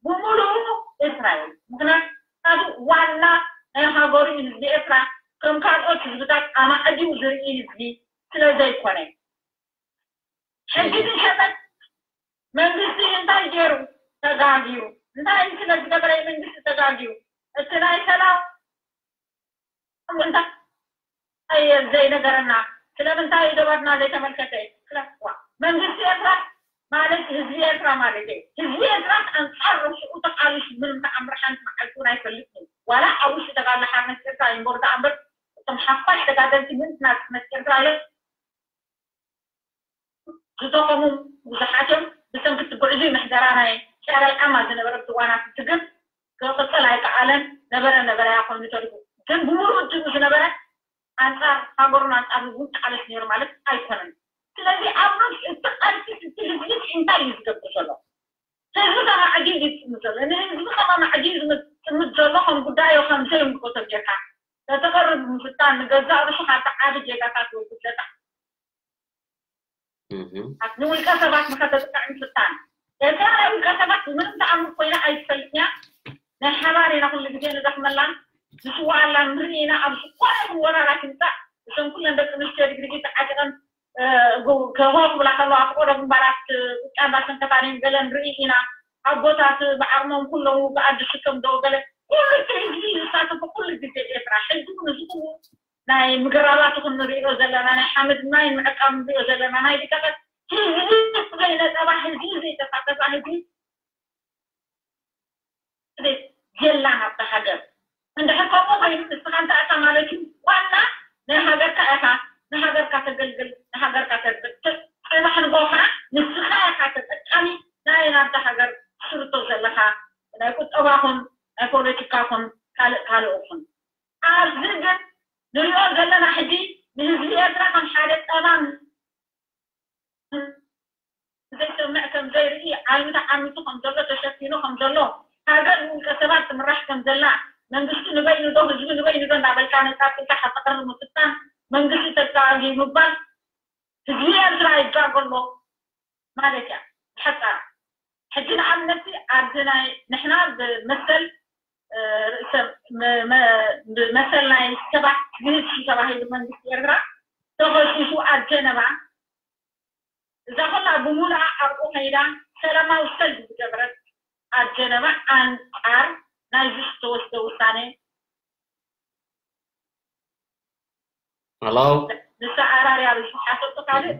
ብምሉኡ ኤርትራ እዩ። ምክንያቱ ዋና ናይ ሃገሩ እዩ ህዝቢ ኤርትራ ከም ካልኦት ህዝብታት ኣማዕድዩ ዝርኢ ህዝቢ ስለ ዘይኮነ ሕጂ ግን ሸፈት መንግስቲ እንታይ ገይሩ ተጋግዩ እንታይ ስለ ዝገበረ መንግስቲ ተጋግዩ እቲ ናይ ሰላም እንታይ ዘይነገረና ስለምንታይ ደባትና ዘይተመልከተ መንግስቲ ኤርትራ ማለት ህዝቢ ኤርትራ ማለት እዩ ህዝቢ ኤርትራ ኣንፃር ርእስኡ ተቃሊሱ ምንም ተኣምር ሓንቲ መዓልቲ እውን ኣይፈልጥን ዋላ ኣብ ውሽጢ ተጋድሎ ሓርነት ኤርትራ ይንበሩ ተኣምር እቶም ሓፋሽ ተጋደልቲ ምንትና ኤርትራ እዮም ዝጠቐሙ ብዙሓት እዮም። ብሰንኪ እቲ ጉዕዙይ ምሕደራ ናይ ሻዕብያ ጫማ ዝነበረ ብዝዋናት ትግር ክቕጽል ኣይከኣለን። ነበረ ነበረያ ኮይኑ ተሪፉ። ግን ብምሉእ እጅኡ ዝነበረ ኣንጻር ሃገሩን ኣንጻር ህዝቡን ክቃለስ ነይሩ ማለት ኣይኮነን። ስለዚ ኣብ ነፍሲ እቲ ቃልሲ እቲ ህዝቢ እንታይ እዩ ዝገብር ዘሎ? ህዝቢ ከማዕድዩ ድዩ ዝጥምት ዘሎ? ንህዝቢ ከማዕድዩ ዝጥምት ዘሎ ከም ጉዳዩ ከም ዘይምልከቶ ጌርካ ተተቐርብ ምፍታን ንገዛእ ርእሱ ካብቲ ዓቢ ጌጋታት ወይ ጉድለታት ንውልቀ ሰባት ንኸተጥቅዕ ምፍታን። ኤርትራ ናይ ውልቀ ሰባት ብምንም ተኣምር ኮይና ኣይትፈልጥን እያ። ናይ ሓባር ኢና ኩሉ ግዜ ንደኽመላን ንስዋኣላን ንርኢ ኢና። ኣብ ዝኾነ ይኹን ወራራት ይምጻእ እተን ኩለን ደቂ ኣንስትዮ ድግድጊ ተዓጢቐን ከሆ ክብላ ከለዋ ፍቆዶ ግንባራት ቁጫ እንዳሰንከታ ንገለ ንርኢ ኢና። ኣቦታት ብዓቕሞም ኩሎም ውግኣት ዝስከም ዶ ገለ ኩሉ እቲ ህዝቢ ዝሳተፎ ኩሉ ግዜ ኤርትራ ሕጂ እውን እዚ ኩሉ ናይ ምግራባት ይኹን ንሪኦ ዘለና ናይ ሓመድ ማይ ምዕቃብ ንሪኦ ዘለና ናይ ድቀቀት ህዝቢ ዘይነጠባ ህዝቢ ዘይተሳተፋ ህዝቢ የላን ኣብታ ሃገር እንድሕር ከምኡ ኮይኑ ንስኻ እንታይ ኢኻ ማለት እዩ ዋና ናይ ሃገርካ ኢኻ ንሃገርካ ተገልግል ንሃገርካ ተርብት ፅባሕ ንጎ ከዓ ንስኻ ኢኻ ተጠቃሚ ናይ ናብታ ሃገር ትስርቶ ዘለኻ ናይ ቁጠባ ኹን ናይ ፖለቲካ ኹን ካልእ ካልእ ኹን ኣብዚ ግን ንሪኦ ዘለና ሕጂ ንህዝቢ ኤርትራ ከም ሓደ ጠማም ዘይሰምዕ ከም ዘይርኢ ዓይኑ ተዓሚቱ ከም ዘሎ ተሸፊኑ ከም ዘሎ ሃገር ብውልቀ ሰባት ትምራሕ ከም ዘላ መንግስቲ ንበይኑ ዶ ህዝቢ ንበይኑ ዶ እንዳበልካ ነጻ ስልካ ሓፈቀር ምፍታን መንግስቲ ተጋጊ ምባል ህዝቢ ኤርትራ ይጋገሎ ማለት እያ ብሓጻር ሕጂ ንኣብነት ኣብዚ ናይ ንሕና ብመሰል ርእሰ ብመሰል ናይ ሰባት ዝህዝ ተባሂሉ መንግስቲ ኤርትራ ተኸሲሱ ኣብ ጀነባ እዛ ኩላ ብሙሉኣ ኣብኡ ከይዳ ሰላማዊ ሰልፊ ዝገበረት ኣብ ጀነባ ኣንጻር ናይዚ ዝተወስደ ውሳነ ሄሎ ንሳ ኣራርያ ዝሓሰብቶ ካልእ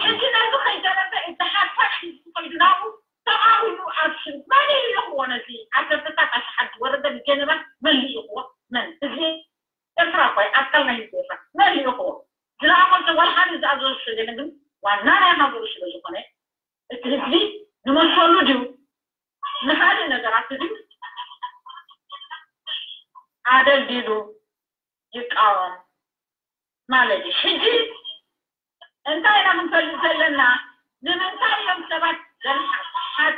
ሕጂ ነዚ ከይደረሰ እቲ ሓፋሽ ህዝቢ ከይዱ ናብኡ ተቓዊሙ ኣብ ሽም መን ይልእኽዎ ነዚ ዓሰርተታት ኣሽሓት ዝወረደ ንጀነባ መን ልኢኽዎ መን ህዝቢ ኤርትራ እኳ ኣካል ናይ ህዝቢ ኤርትራ መን ልኢኽዎ ዝለኣኾ ዋላ ሓደ ዝኣዘዞ ስለ ግን ዋና ናይ ሃገሩ ስለ ዝኾነ እቲ ህዝቢ ንመሰሉ ድዩ ንኻልእ ነገራት ድዩ ኣደልዲሉ ይቃወም ማለት እዩ። ሕጂ እንታይ ኢና ክንፈልጥ ዘለና? ንምንታይ እዮም ሰባት ዘልሓሓት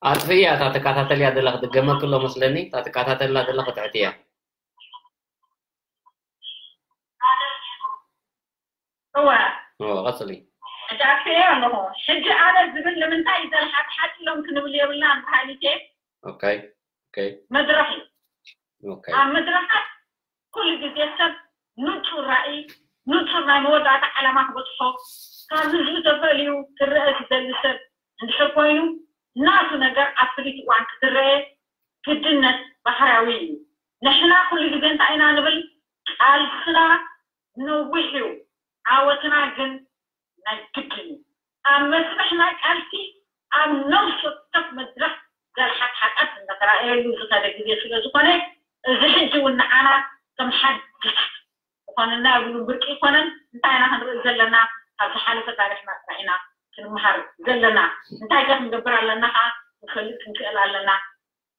ኣጥፍእያ እታ ትከታተልያ ዘለኽ ድገመክሎ መስለኒ። እታ ትከታተላ ዘለኽ ትዕትያ። እወ ኦ፣ ቀጽሊ። ሕጂ ኣጥፍእዮ ኣለኹ። ሕጂ ኣነ ዝብል ንምንታይ ዘልሓሓት ኢሎም ክንብል የብልናን ብሃሊቴ ኦኬ፣ ኦኬ፣ መድረኽ እዩ። ኦኬ። ኣብ መድረኻት ኩሉ ግዜ ሰብ ንጹር ራእይ ንጹር ናይ መወዳእታ ዓላማ ክበጽሖ ካብ ህዝቢ ተፈልዩ ክረአ ዝደሊ ሰብ እንድሕር ኮይኑ ናቱ ነገር ኣብ ፍሊት እዋን ክዝረአ ግድነት ባህርያዊ እዩ። ንሕና ኩሉ ግዜ እንታይ ኢና ንብል? ቃልስና ነዊሕ እዩ፣ ዓወትና ግን ናይ ግድን እዩ። ኣብ መስርሕ ናይ ቃልሲ ኣብ ነፍሲ ወከፍ መድረኽ ዘልሓሓት ሓጣት እናተራእየሉ ዝኸደ ግዜ ስለ ዝኾነ እዚ ሕጂ እውን ንዓና ከም ሓድሽ ዝኾነና የብሉን፣ ብርቂ ይኮነን። እንታይ ኢና ክንርኢ ዘለና? ካብ ዝሓለፈ ታሪኽና ጥራሕ ኢና ክንመሃር ዘለና። እንታይ ከ ክንገብር ኣለና ከዓ ክንፈልጥ ክንክእል ኣለና።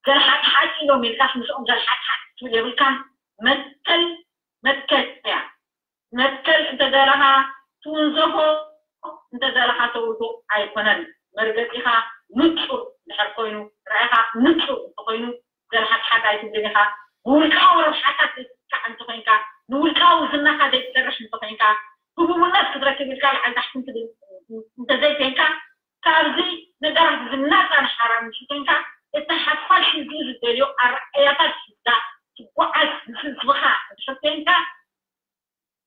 ዘልሓሓት ኢሎም ኢልካስ ምስኦም ዘልሓሓት ትብል የብልካን። መትከል መትከል እያ። መትከል እንተደለኻ ትውንዘፎ እንተደለኻ ተውዞ ኣይኮነን። መርገፂኻ ንፁር እንድሕር ኮይኑ ራእይኻ ንፁር እንተኮይኑ ዘልሓሓት ኣይትብልን ኢኻ። ብውልቃዊ ረብሓታት ዘይትጥቃዕ እንተኮይንካ ንውልቃዊ ዝናኻ ዘይትሰርሕ እንተኮይንካ ህቡብነት ክትረክብ ኢልካ ላዕሊ ታሕቲ እንተዘይኮይንካ ካብዚ ነገራት ዝናፃ ንሓራ ምሽ ኮይንካ እቲ ሓፋሽ ህዝቢ ዝደልዮ ኣረኣያታት ሒዝካ ትጓዓዝ ንህዝብኻ እንድሕር ኮይንካ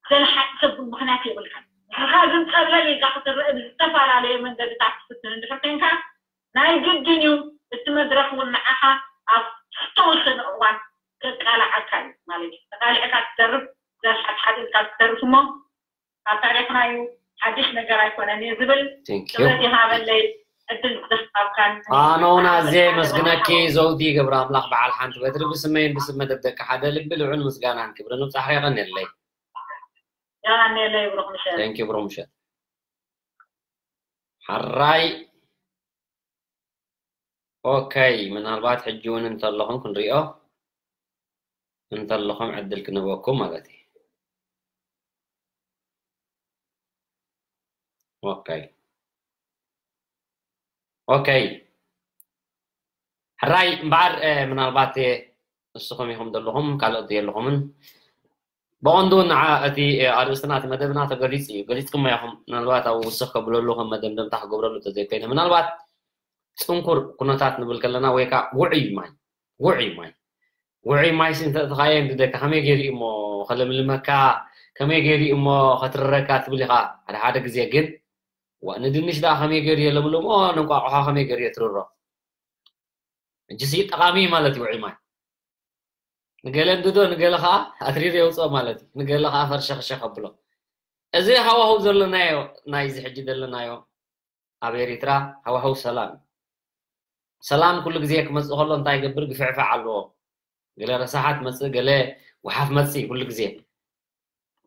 ዘልሓት ዘብል ምክንያት የብልካን። ንስኻ ግን ፀብለል ኢልካ ክትረአ ብዝተፈላለየ መንገድታት ትፍትን እንድሕር ኮይንካ ናይ ግድን እዩ እቲ መድረኽ እውን ንዓኻ ኣብ ዝተወሰነ እዋን ከቃልዓካ እዩ ማለት እዩ። ተቃሊዕካ ትተርፍ ዘልሓት ሓጢልካ ትተርፍ እሞ ኣብ ታሪኽና እዩ ሓድሽ ነገር ኣይኮነን እየ ዝብል Thank you። ክብረት ይሃበለይ ዕድል ዝሃብካን ኣነ እውን ኣዝየ የመስግነኪ ዘውዲ ገብረ ኣምላኽ በዓል ሓንቲ በትሪ ብስመይን ብስም መደብ ደቂ ሓደ ልቢ ልዑል ምስጋናን ክብርን ንብጻሕኪ የቐንየለይ። የቐንየለይ ብሩኽ ምሸት። Thank you ብሩኽ ምሸት። ሓራይ ኦኬ፣ ምናልባት ሕጂ እውን እንተለኹም ክንሪኦ እንተለኹም ዕድል ክንህበኩም ማለት እዩ። ኦኬ ኦኬ፣ ሕራይ እምበኣር ምናልባት ንስኹም ኢኹም ዘለኹም ካልኦት የለኹምን። ብቐንዱ ንዓ እቲ ኣርእስትና እቲ መደብና ተገሊፁ እዩ፣ ገሊፅኩሞ ኢኹም። ምናልባት ኣብ ውስኽ ከብለሉ ከም መደምደምታ ክገብረሉ ተዘይኮይነ ምናልባት ፅንኩር ኩነታት ንብል ከለና ወይ ከዓ ውዑይ ማይ ውዑይ ማይ ውዑይ ማይ ሲ እንተእትኻዮ እንድደካ ከመይ ገይሩ እሞ ከለምልመካ ከመይ ገይሩ እሞ ከትርረካ ትብል ኢኻ። ሓደ ሓደ ግዜ ግን ዋ ንድንሽ ደኣ ከመይ ገይሩ እየ ለምልሞ ነንቋቑሖ ከመይ ገይሩ እየ ትርሮ እጅሲ ጠቓሚ ማለት እዩ። ውዑይ ማይ ንገለ እንድዶ ንገለ ከዓ ኣትሪር የውፅኦ ማለት እዩ። ንገለ ከዓ ፈርሸኽሸኽ ኣብሎ። እዚ ሃዋህው ዘለናዮ ናይዚ ሕጂ ዘለናዮ ኣብ ኤሪትራ ሃዋህው ሰላም እዩ። ሰላም ኩሉ ግዜ ክመፅእ ከሎ እንታይ ይገብር? ግፍዕፍዕ ኣለዎ። ገለ ረሳሓት መፅእ፣ ገለ ወሓፍ መፅእ ኩሉ ግዜ።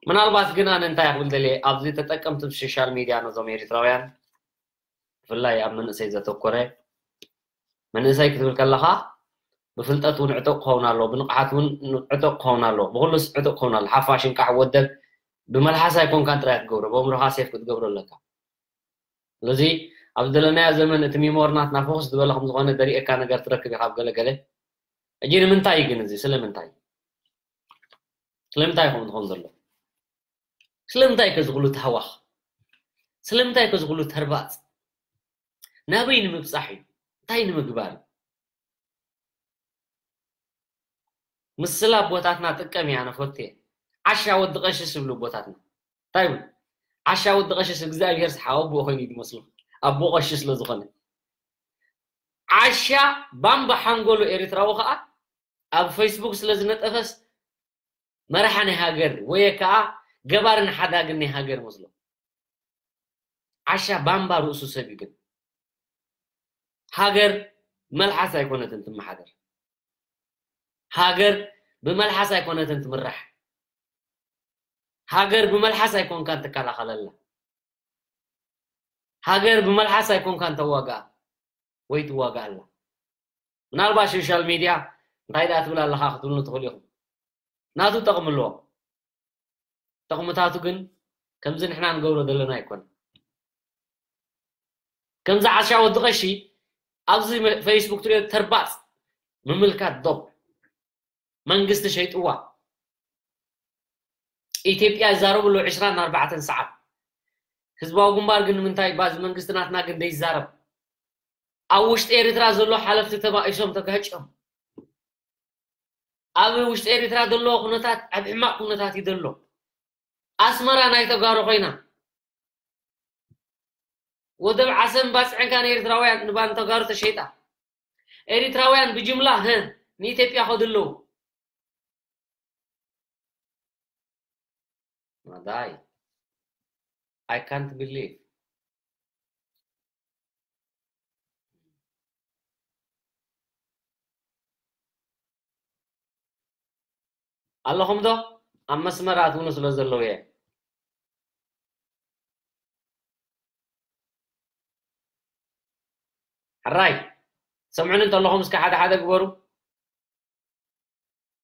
ምናልባት ግን ኣነ እንታይ ክብል ደልየ ኣብዚ ተጠቀምቲ ሶሻል ሚድያ ነዞም ኤሪትራውያን ብፍላይ ኣብ መንእሰይ ዘተኮረ መንእሰይ ክትብል ከለኻ ብፍልጠት እውን ዕጡቕ ክኸውን ኣለዎ፣ ብንቕሓት እውን ዕጡቕ ክኸውን ኣለዎ፣ ብኩሉስ ዕጡቕ ክኸውን ኣለዎ። ሓፋሽ እንቃሕ ወደብ ብመልሓስ ኣይኮንካን ጥራይ ክትገብሮ፣ በእምሮኻ ሴፍ ክትገብሮ ኣለካ። ስለዚ ኣብ ዘለናዮ ዘመን እቲ ሚሞሪ ናትና ፍኹስ ዝበለ ከም ዝኾነ ደሪኤካ ነገር ትረክብ ኢኻ ኣብ ገለ ገለ። ሕጂ ንምንታይ እዩ ግን እዚ? ስለምንታይ? ስለምንታይ ከምኡ ዝኸውን ዘሎ? ስለምንታይ ከ ዝኹሉ ታህዋኽ? ስለምንታይ ከ ዝኹሉ ተርባጽ? ናበይ ንምብጻሕ እዩ? እንታይ ንምግባር እዩ? ምስላ ኣቦታትና ጥቀም እያ ነፈቴ። ዓሻ ወዲ ቀሽስ ይብሉ ኣቦታትና። እንታይ ይብሉ? ዓሻ ወዲ ቀሽስ እግዚኣብሔር ሰሓ ኣቦ ኮይኑ እዩ ዝመስሉ። ኣቦ ቀሽስ ስለ ዝኾነ። ዓሻ ባምባ ሓንጎሉ ኤሪትራዊ ከዓ ኣብ ፌስቡክ ስለ ዝነጠፈስ መራሒ ናይ ሃገር ወይ ከዓ ገባርን ሓዳግን ናይ ሃገር መስሎ። ዓሻ ባምባ ርእሱ ሰብ እዩ ግን ሃገር መልሓስ ኣይኮነትን ትመሓደር። ሃገር ብመልሓስ ኣይኮነትን ትምራሕ። ሃገር ብመልሓስ ኣይኮንካን ትከላኸለላ። ሃገር ብመልሓስ ኣይኮንካን ተዋግኣ ወይ ትዋግኣላ። ምናልባት ሶሻል ሚድያ እንታይ ደኣ ትብል ኣለኻ ክትብሉ ትኽእሉ ኢኹም። ናቱ ጠቕሚ ኣለዎ። ጠቕምታቱ ግን ከምዚ ንሕና ንገብሮ ዘለና ኣይኮነን። ከምዚ ዓሻ ወዲ ቀሺ ኣብዚ መ- ፌስቡክ ትሪኦ ተርባጽ ምምልካት ዶብ መንግስቲ ሸይጥዋ። ኢትዮጵያ ይዛረቡ ኣለዉ ዕስራን ኣርባዕተን ሰዓት። ህዝባዊ ግንባር ግን ንምንታይ ባዚ መንግስቲ ናትና ግን ደይዛረብ? ኣብ ውሽጢ ኤርትራ ዘሎ ሓለፍቲ ተባኢሶም ተጋጭዮም። ኣብ ውሽጢ ኤርትራ ዘሎ ኩነታት ኣብ ሕማቕ ኩነታት እዩ ዘሎ። ኣስመራ ናይ ተጋሩ ኮይና ወደብ ዓሰብ ባጽዕንካ ንኤርትራውያን ንባን ተጋሩ ተሸይጣ። ኤርትራውያን ብጅምላ ህ ንኢትዮጵያ ከዱ ኣለዉ። ማዳይ I can't believe። ኣለኹም ዶ? ኣብ መስመር ኣትውኑ ስለ ዘለዉ እየ። ሕራይ ሰምዑኒ እንተለኹም እስከ ሓደ ሓደ ግበሩ።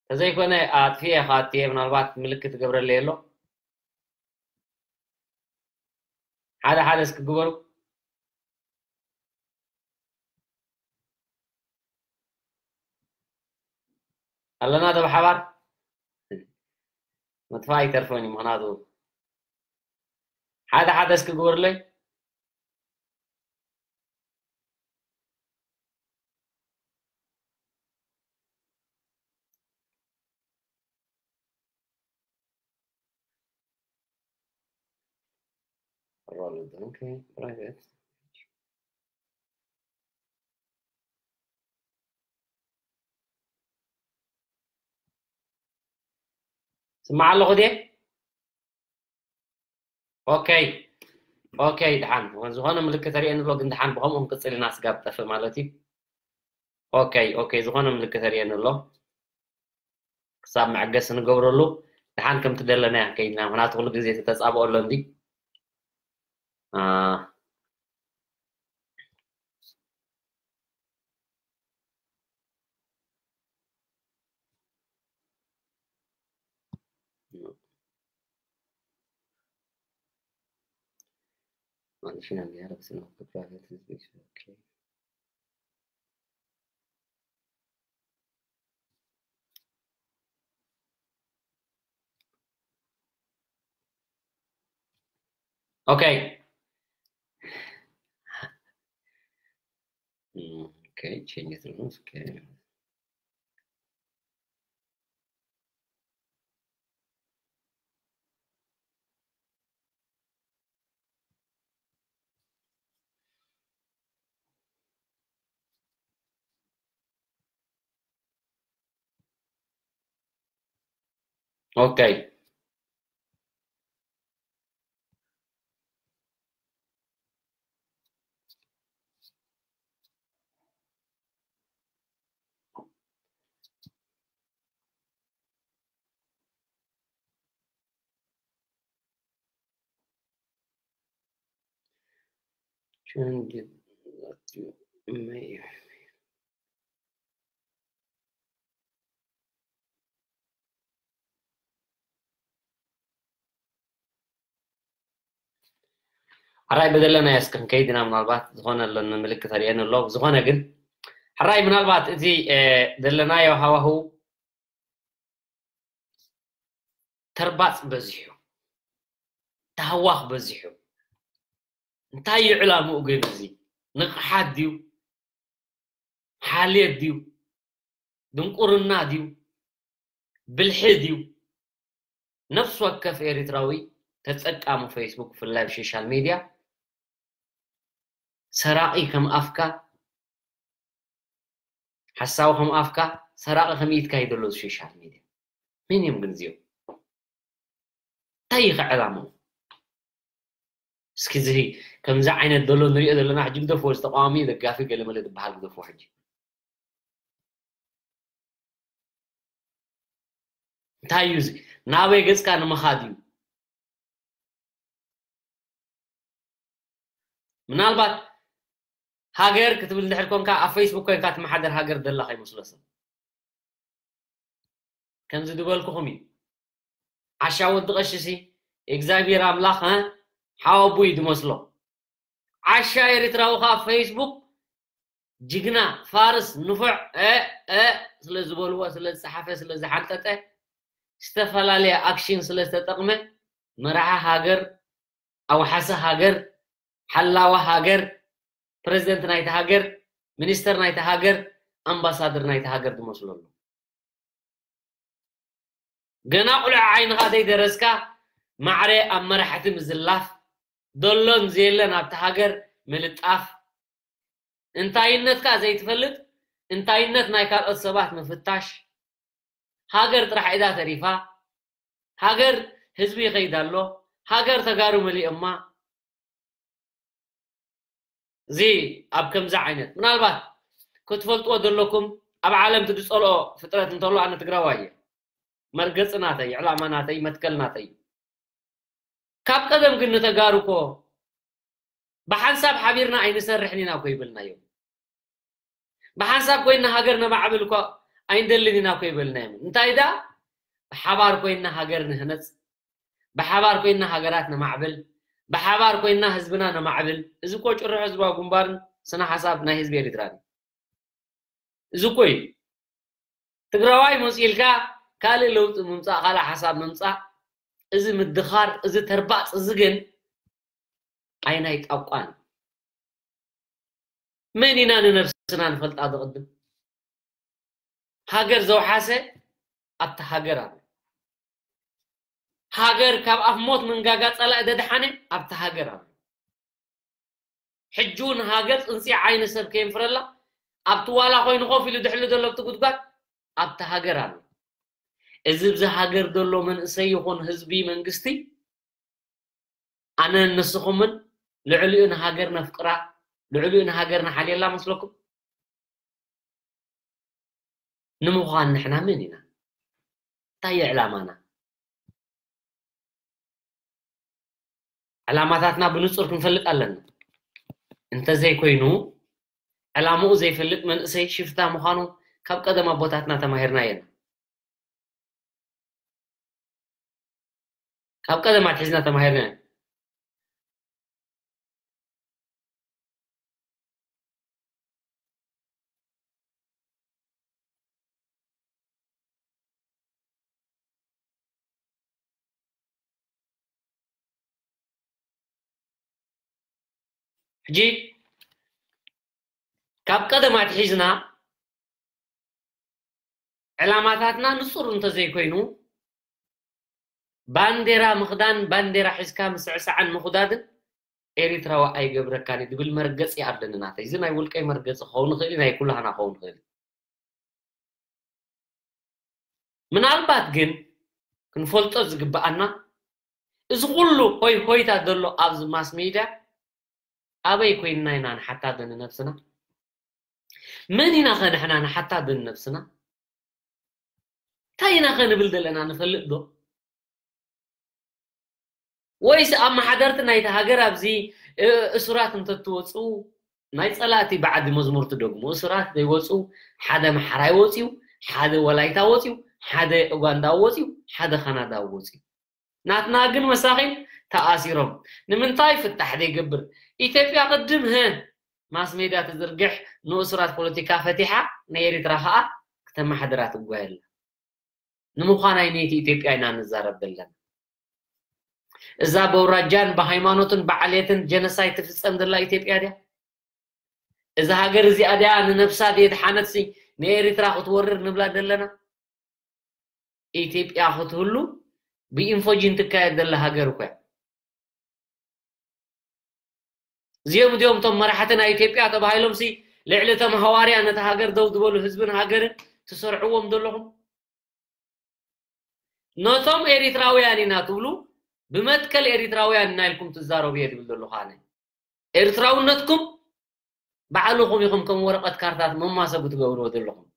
ተዘይኮነ ኣጥፊኤ ከኣትየ ምናልባት ምልክት ገብረለይ ኣሎ። ሓደ ሓደ እስኪ ግበሩ። ኣለና ዶ ብሓባር? መጥፋእ ኣይተርፎን እዩ ምኽንያቱ ሓደ ሓደ እስኪ ግበሩለይ። Roll it. Okay, private. ስማዕ ኣለኹ ድየ? ኦኬ ኦኬ፣ ድሓን ዝኾነ ምልክት ተርእየኒ ኣሎ፣ ግን ድሓን ብኸምኡ ክንቅጽል ኢና፣ ስጋብ ጠፍእ ማለት እዩ። ኦኬ ኦኬ፣ ዝኾነ ምልክት ተርእየኒ ኣሎ። ክሳብ መዐገሲ ንገብረሉ ድሓን ከም ትደለናያ ከይድና፣ ምኽንያቱ ኩሉ ግዜ ተተጻብኦ ኣሎ እንዲ። Okay. Mm, okay, change the rules. Okay. Okay. Change it. ሕራይ ብደለናዮ እስከ ክንከይድ ኢና። ምናልባት ዝኾነ ኣሎ ንምልክት ኣርእየኒ ኣሎ። ዝኾነ ግን ሕራይ ምናልባት እቲ ደለናዮ ሃዋህው ተርባጽ በዚሑ፣ ታህዋኽ በዚሑ። እንታይ እዩ ዕላምኡ ግን እዚ? ንቕሓት ድዩ? ሓልየት ድዩ? ድንቁርና ድዩ? ብልሒ ድዩ? ነፍሲ ወከፍ ኤርትራዊ ተጠቃሚ ፌስቡክ፣ ብፍላይ ኣብ ሶሻል ሚድያ ሰራቒ ከም ኣፍካ፣ ሓሳዊ ከም ኣፍካ፣ ሰራቒ ከም ኢድካ እዩ ዘሎ እዚ ሶሻል ሚድያ። መን እዮም ግን እዚኦም? እንታይ እዩ ከ ዕላምኡ? እስኪ እዚ ከምዚ ዓይነት ዘሎ ንሪኦ ዘለና ሕጂ ግደፍዎ፣ እዚ ተቃዋሚ ደጋፊ ገለመለ ዝበሃል ግደፍዎ ሕጂ። እንታይ እዩ እዚ? ናበይ ገጽካ ንምኻድ እዩ? ምናልባት ሃገር ክትብል እንድሕር ኮንካ ኣብ ፌስቡክ ኮንካ ትመሓደር ሃገር ደላ ከይመስሎ ሰብ። ከምዚ ዝበልኩኹም እዩ። ዓሻ ወዲ ቀሽሲ እግዚኣብሔር ኣምላኽ ሓወቡ እዩ ዝመስሎ። ዓሻ ኤርትራዊ ከዓ ፌስቡክ ጅግና ፋርስ ንፉዕ እ እ ስለ ዝበልዎ ስለ ዝፀሓፈ ስለ ዝሓንጠጠ ዝተፈላለየ ኣክሽን ስለ ዝተጠቕመ መራሒ ሃገር ኣውሓሲ ሃገር ሓላዊ ሃገር ፕረዚደንት ናይቲ ሃገር ሚኒስተር ናይቲ ሃገር ኣምባሳደር ናይቲ ሃገር ዝመስሎ ኣሎ። ገና ቁልዕ ዓይንኻ ዘይደረስካ ማዕረ ኣብ መራሕቲ ምዝላፍ፣ ደሎን ዘየለን ኣብቲ ሃገር ምልጣፍ፣ እንታይነትካ ዘይትፈልጥ እንታይነት ናይ ካልኦት ሰባት ምፍታሽ፣ ሃገር ጥራሕ ኢዳ ተሪፋ፣ ሃገር ህዝቢ ይኸይድ ኣሎ፣ ሃገር ተጋሩ መሊኦማ። እዚ ኣብ ከምዚ ዓይነት ምናልባት ክትፈልጥዎ ዘለኩም ኣብ ዓለም ትድፀልኦ ፍጥረት እንተሎ ኣነ ትግራዋይ እየ። መርገፂ ናተይ፣ ዕላማ ናተይ፣ መትከል ናተይ እዩ። ካብ ቀደም ግን ንተጋሩ እኮ ብሓንሳብ ሓቢርና ኣይንሰርሕን ኢና እኮ ይብልናዮም። ብሓንሳብ ኮይና ሃገር ነማዕብል እኮ ኣይንደልን ኢና እኮ ይብልናዮም። እንታይ ዳ ብሓባር ኮይና ሃገር ንህነፅ፣ ብሓባር ኮይና ሃገራት ነማዕብል፣ ብሓባር ኮይና ህዝብና ነማዕብል። እዚ እኮ ጭርሖ ህዝባዊ ግንባርን ስነ ሓሳብ ናይ ህዝቢ ኤርትራ እዩ። እዚ እኮ እዩ። ትግራዋይ መፂኡ ኢልካ ካልእ ለውጢ ምምፃእ፣ ካልእ ሓሳብ ምምፃእ፣ እዚ ምድኻር፣ እዚ ተርባፅ፣ እዚ ግን ኣይናይ ጣቋን። መን ኢና ንነብስና ንፈልጣ ዝቕድም? ሃገር ዘውሓሰ ኣብቲ ሃገር ኣሎ። ሃገር ካብ ኣፍ ሞት መንጋጋ ፀላኢ ደድሓነ ኣብቲ ሃገር ኣሎ። ሕጂ እውን ሃገር ፅንፂ ዓይኒ ሰብ ከየንፍረላ ኣብቲ ዋላ ኮይኑ ኮፍ ኢሉ ድሕሉ ዘሎ ኣብቲ ጉድጓድ ኣብቲ ሃገር ኣሎ። እዚ ብዚ ሃገር ዘሎ መንእሰይ ይኹን ህዝቢ መንግስቲ ኣነን ንስኹምን ልዕሊኡ ንሃገር ነፍቅራ ልዕሊኡ ንሃገር ንሓልየላ መስለኩም? ንምዃን ንሕና መን ኢና? እንታይ እዩ ዕላማና? ዕላማታትና ብንጹር ክንፈልጥ ኣለና። እንተዘይኮይኑ ዕላምኡ ዘይፈልጥ መንእሰይ ሽፍታ ምዃኑ ካብ ቀደም ኣቦታትና ተማሂርናዮ ኢና። ካብ ቀደም ኣትሒዝና ተማሂርና ኢና። ሕጂ ካብ ቀደም ኣትሒዝና ዕላማታትና ንጹር እንተዘይኮይኑ ባንዴራ ምኽዳን ባንዴራ ሒዝካ ምስዕሳዕን ምኹዳድን ኤሪትራዊ ኣይገብረካን እዩ ዝብል መርገፂ ኣለኒ ናተይ። እዚ ናይ ውልቀይ መርገፂ ክኸውን ይኽእል እዩ፣ ናይ ኩላህና ክኸውን ይኽእል እዩ። ምናልባት ግን ክንፈልጦ ዝግበኣና እዚ ኩሉ ሆይ ሆይታ ዘሎ ኣብዚ ማስ ሜድያ ኣበይ ኮይንና ኢና ንሓታ ዶ ንነብስና? መን ኢና ኸ ንሕና ንሓታ ዶ ንነብስና? እንታይ ኢና ኸ ንብል ዘለና ንፈልጥ ዶ? ወይስ ኣመሓደርቲ ናይቲ ሃገር ኣብዚ እሱራት እንተትወፁ ናይ ፀላእቲ ብዓዲ መዝሙር ትደግሙ እሱራት ዘይወፁ ሓደ ኣምሓራይ ወፅዩ ሓደ ወላይታ ወፅዩ ሓደ ኡጋንዳ ወፅዩ ሓደ ካናዳ ወፅዩ ናትና ግን መሳኺን ተኣሲሮም ንምንታይ ፍታሕ ዘይገብር ኢትዮጵያ ቅድም ሀ ማስ ሜድያ ትዝርግሕ ንእሱራት ፖለቲካ ፈቲሓ ናይ ኤሪትራ ከዓ ክተመሓድራ ትጓየላ ንምዃን ኣይነይቲ ኢትዮጵያ ኢና ንዛረብ ዘለና እዛ በውራጃን ብሃይማኖትን ብዓሌትን ጀነሳይ ትፍፀም ዘላ ኢትዮጵያ ድያ እዛ ሃገር እዚኣ ድያ ንነብሳ ደየድሓነትሲ ንኤሪትራ ክትወርር ንብላ ዘለና ኢትዮጵያ ክትህሉ ብኢንፎጂን ትካየድ ዘላ ሃገር እኮ እዚኦም እዚኦም እቶም መራሕቲ ናይ ኢትዮጵያ ተባሂሎም ሲ ልዕሊ እቶም ሃዋርያ ነቲ ሃገር ደው ዝበሉ ህዝብን ሃገርን ትሰርዕዎም ዘለኹም ነቶም ኤሪትራውያን ኢና ትብሉ ብመትከል ኤሪትራውያን ኢና ኢልኩም ትዛረቡ እየ ዝብል ዘለኹ ኣነ ኤርትራውነትኩም ባዕልኹም ኢኹም ከም ወረቐት ካርታት መማሰቡ ትገብርዎ ዘለኹም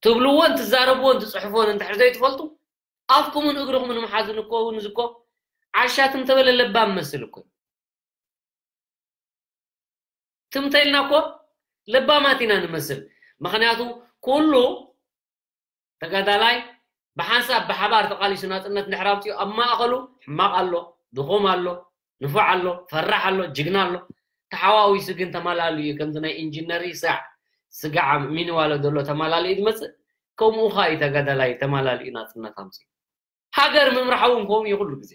ትብልዎን ትዛረብዎን ትፅሕፍዎን እንድሕር ዘይትፈልጡ ኣፍኩምን እግርኹምን ምሓዝን እኮ እውን እኮ ዓሻ ትም ተበለ ለባም መስል እኮ ትምተልና እኮ ለባማት ኢና ንመስል። ምኽንያቱ ኩሉ ተጋዳላይ ብሓንሳብ ብሓባር ተቓሊሱ ናጽነት እንድሕር ኣምጺኡ ኣብ ማእኸሉ ሕማቕ ኣሎ፣ ድኹም ኣሎ፣ ንፉዕ ኣሎ፣ ፈራሕ ኣሎ፣ ጅግና ኣሎ። ተሓዋዊሱ ግን ተመላልኡ እዩ። ከምዚ ናይ ኢንጂነር ይስራዕ ስጋዕ ሚኒዋሎ ዘሎ ተመላልኡ ዝመጽእ፣ ከምኡ ኸኣ እዩ ተጋዳላይ ተመላልኡ ናጽነት ኣምጺኡ። ሃገር ምምራሕ እውን ከምኡ እዩ ኩሉ ግዜ።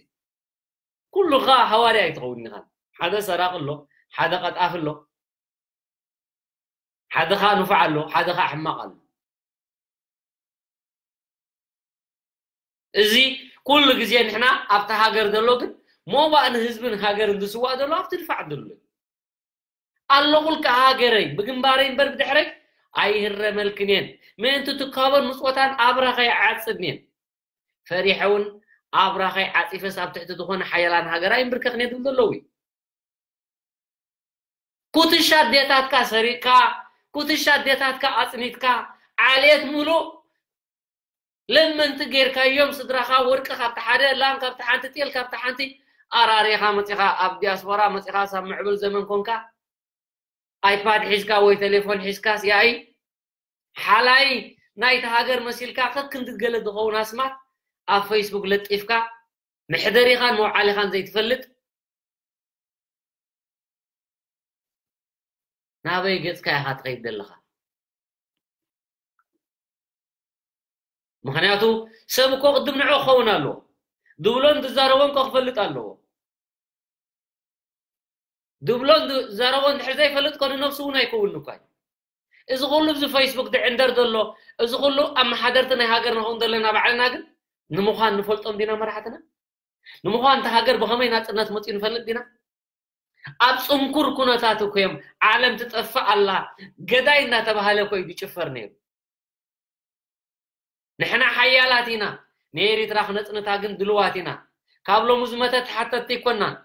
ኩሉ ኸኣ ሃዋርያ ኣይትኸውን ኢኻ። ሓደ ሰራቂ ኣሎ፣ ሓደ ቀጣፊ ኣሎ፣ ሓደ ኸኣ ንፉዕ ኣሎ፣ ሓደ ኸኣ ሕማቕ ኣሎ። እዚ ኩሉ ግዜ ንሕና ኣብቲ ሃገር ዘሎ ግን ሞባእ ንህዝብን ሃገርን ዝስዋእ ዘሎ ኣብቲ ድፋዕ ዘሎ እዩ። ኣለኹልካ ሃገረይ፣ ብግንባረይ እምበር ብድሕረይ ኣይህረመልክን እየን። ምእንቲ ትካቦን ምጽወታን ኣብራኸይ ዓጽድን እየን። ፈሪሐ እውን ኣብራኸይ ዓጺፈስ ኣብ ትሕቲ ዝኾነ ሓያላን ሃገር ኣይምብርከኽን እየ ዝብል ዘለዉ እዩ። ኩትሻ ኣዴታትካ ሰሪቕካ፣ ኩትሻ ኣዴታትካ ኣጽኒትካ፣ ዓሌት ሙሉእ ለመንቲ ጌርካዮም፣ ስድራኻ ወርቂ ካብቲ ሓደ፣ ላም ካብቲ ሓንቲ፣ ጤል ካብቲ ሓንቲ ኣራሪኻ መጺኻ፣ ኣብ ዲያስፖራ መጺኻ፣ ሳብ ምዕብል ዘመን ኮንካ፣ ኣይፓድ ሒዝካ ወይ ቴሌፎን ሒዝካስ ያኢ ሓላይ ናይቲ ሃገር መሲልካ ከክንዲ ገለ ዝኸውን ኣስማት ኣብ ፌስቡክ ለጢፍካ መሕደሪኻን መውዓሊኻን ዘይትፈልጥ ናበይ ገጽካ ኢኻ ትኸይድ ዘለኻ? ምኽንያቱ ሰብ እኮ ቅድም ንዑ ክኸውን ኣለዎ። ድብሎን ዝዛረቦን እኮ ክፈልጥ ኣለዎ። ድብሎን ዝዛረቦን ድሕር ዘይፈልጥ ኮ ንነብሱ እውን ኣይከውንን እኳ እዩ። እዚ ኩሉ ኣብዚ ፌስቡክ ዝዕንደር ዘሎ፣ እዚ ኩሉ ኣመሓደርቲ ናይ ሃገር ንኸውን ዘለና ባዕልና ግን ንምዃን ንፈልጦም ዲና መራሕትና? ንምዃን እታ ሃገር ብኸመይ ናጽነት መጺኡ ንፈልጥ ዲና? ኣብ ጽንኩር ኩነታት እኮ እዮም ዓለም ትጠፍእ ኣላ፣ ገዳይ እናተባህለ እኮ እዩ ዝጭፈር ነይሩ። ንሕና ሓያላት ኢና፣ ንኤሪትራ ክነጽንታ ግን ድልዋት ኢና። ካብ ሎሚ ዝመተ ተሓተትቲ ኣይኮናን።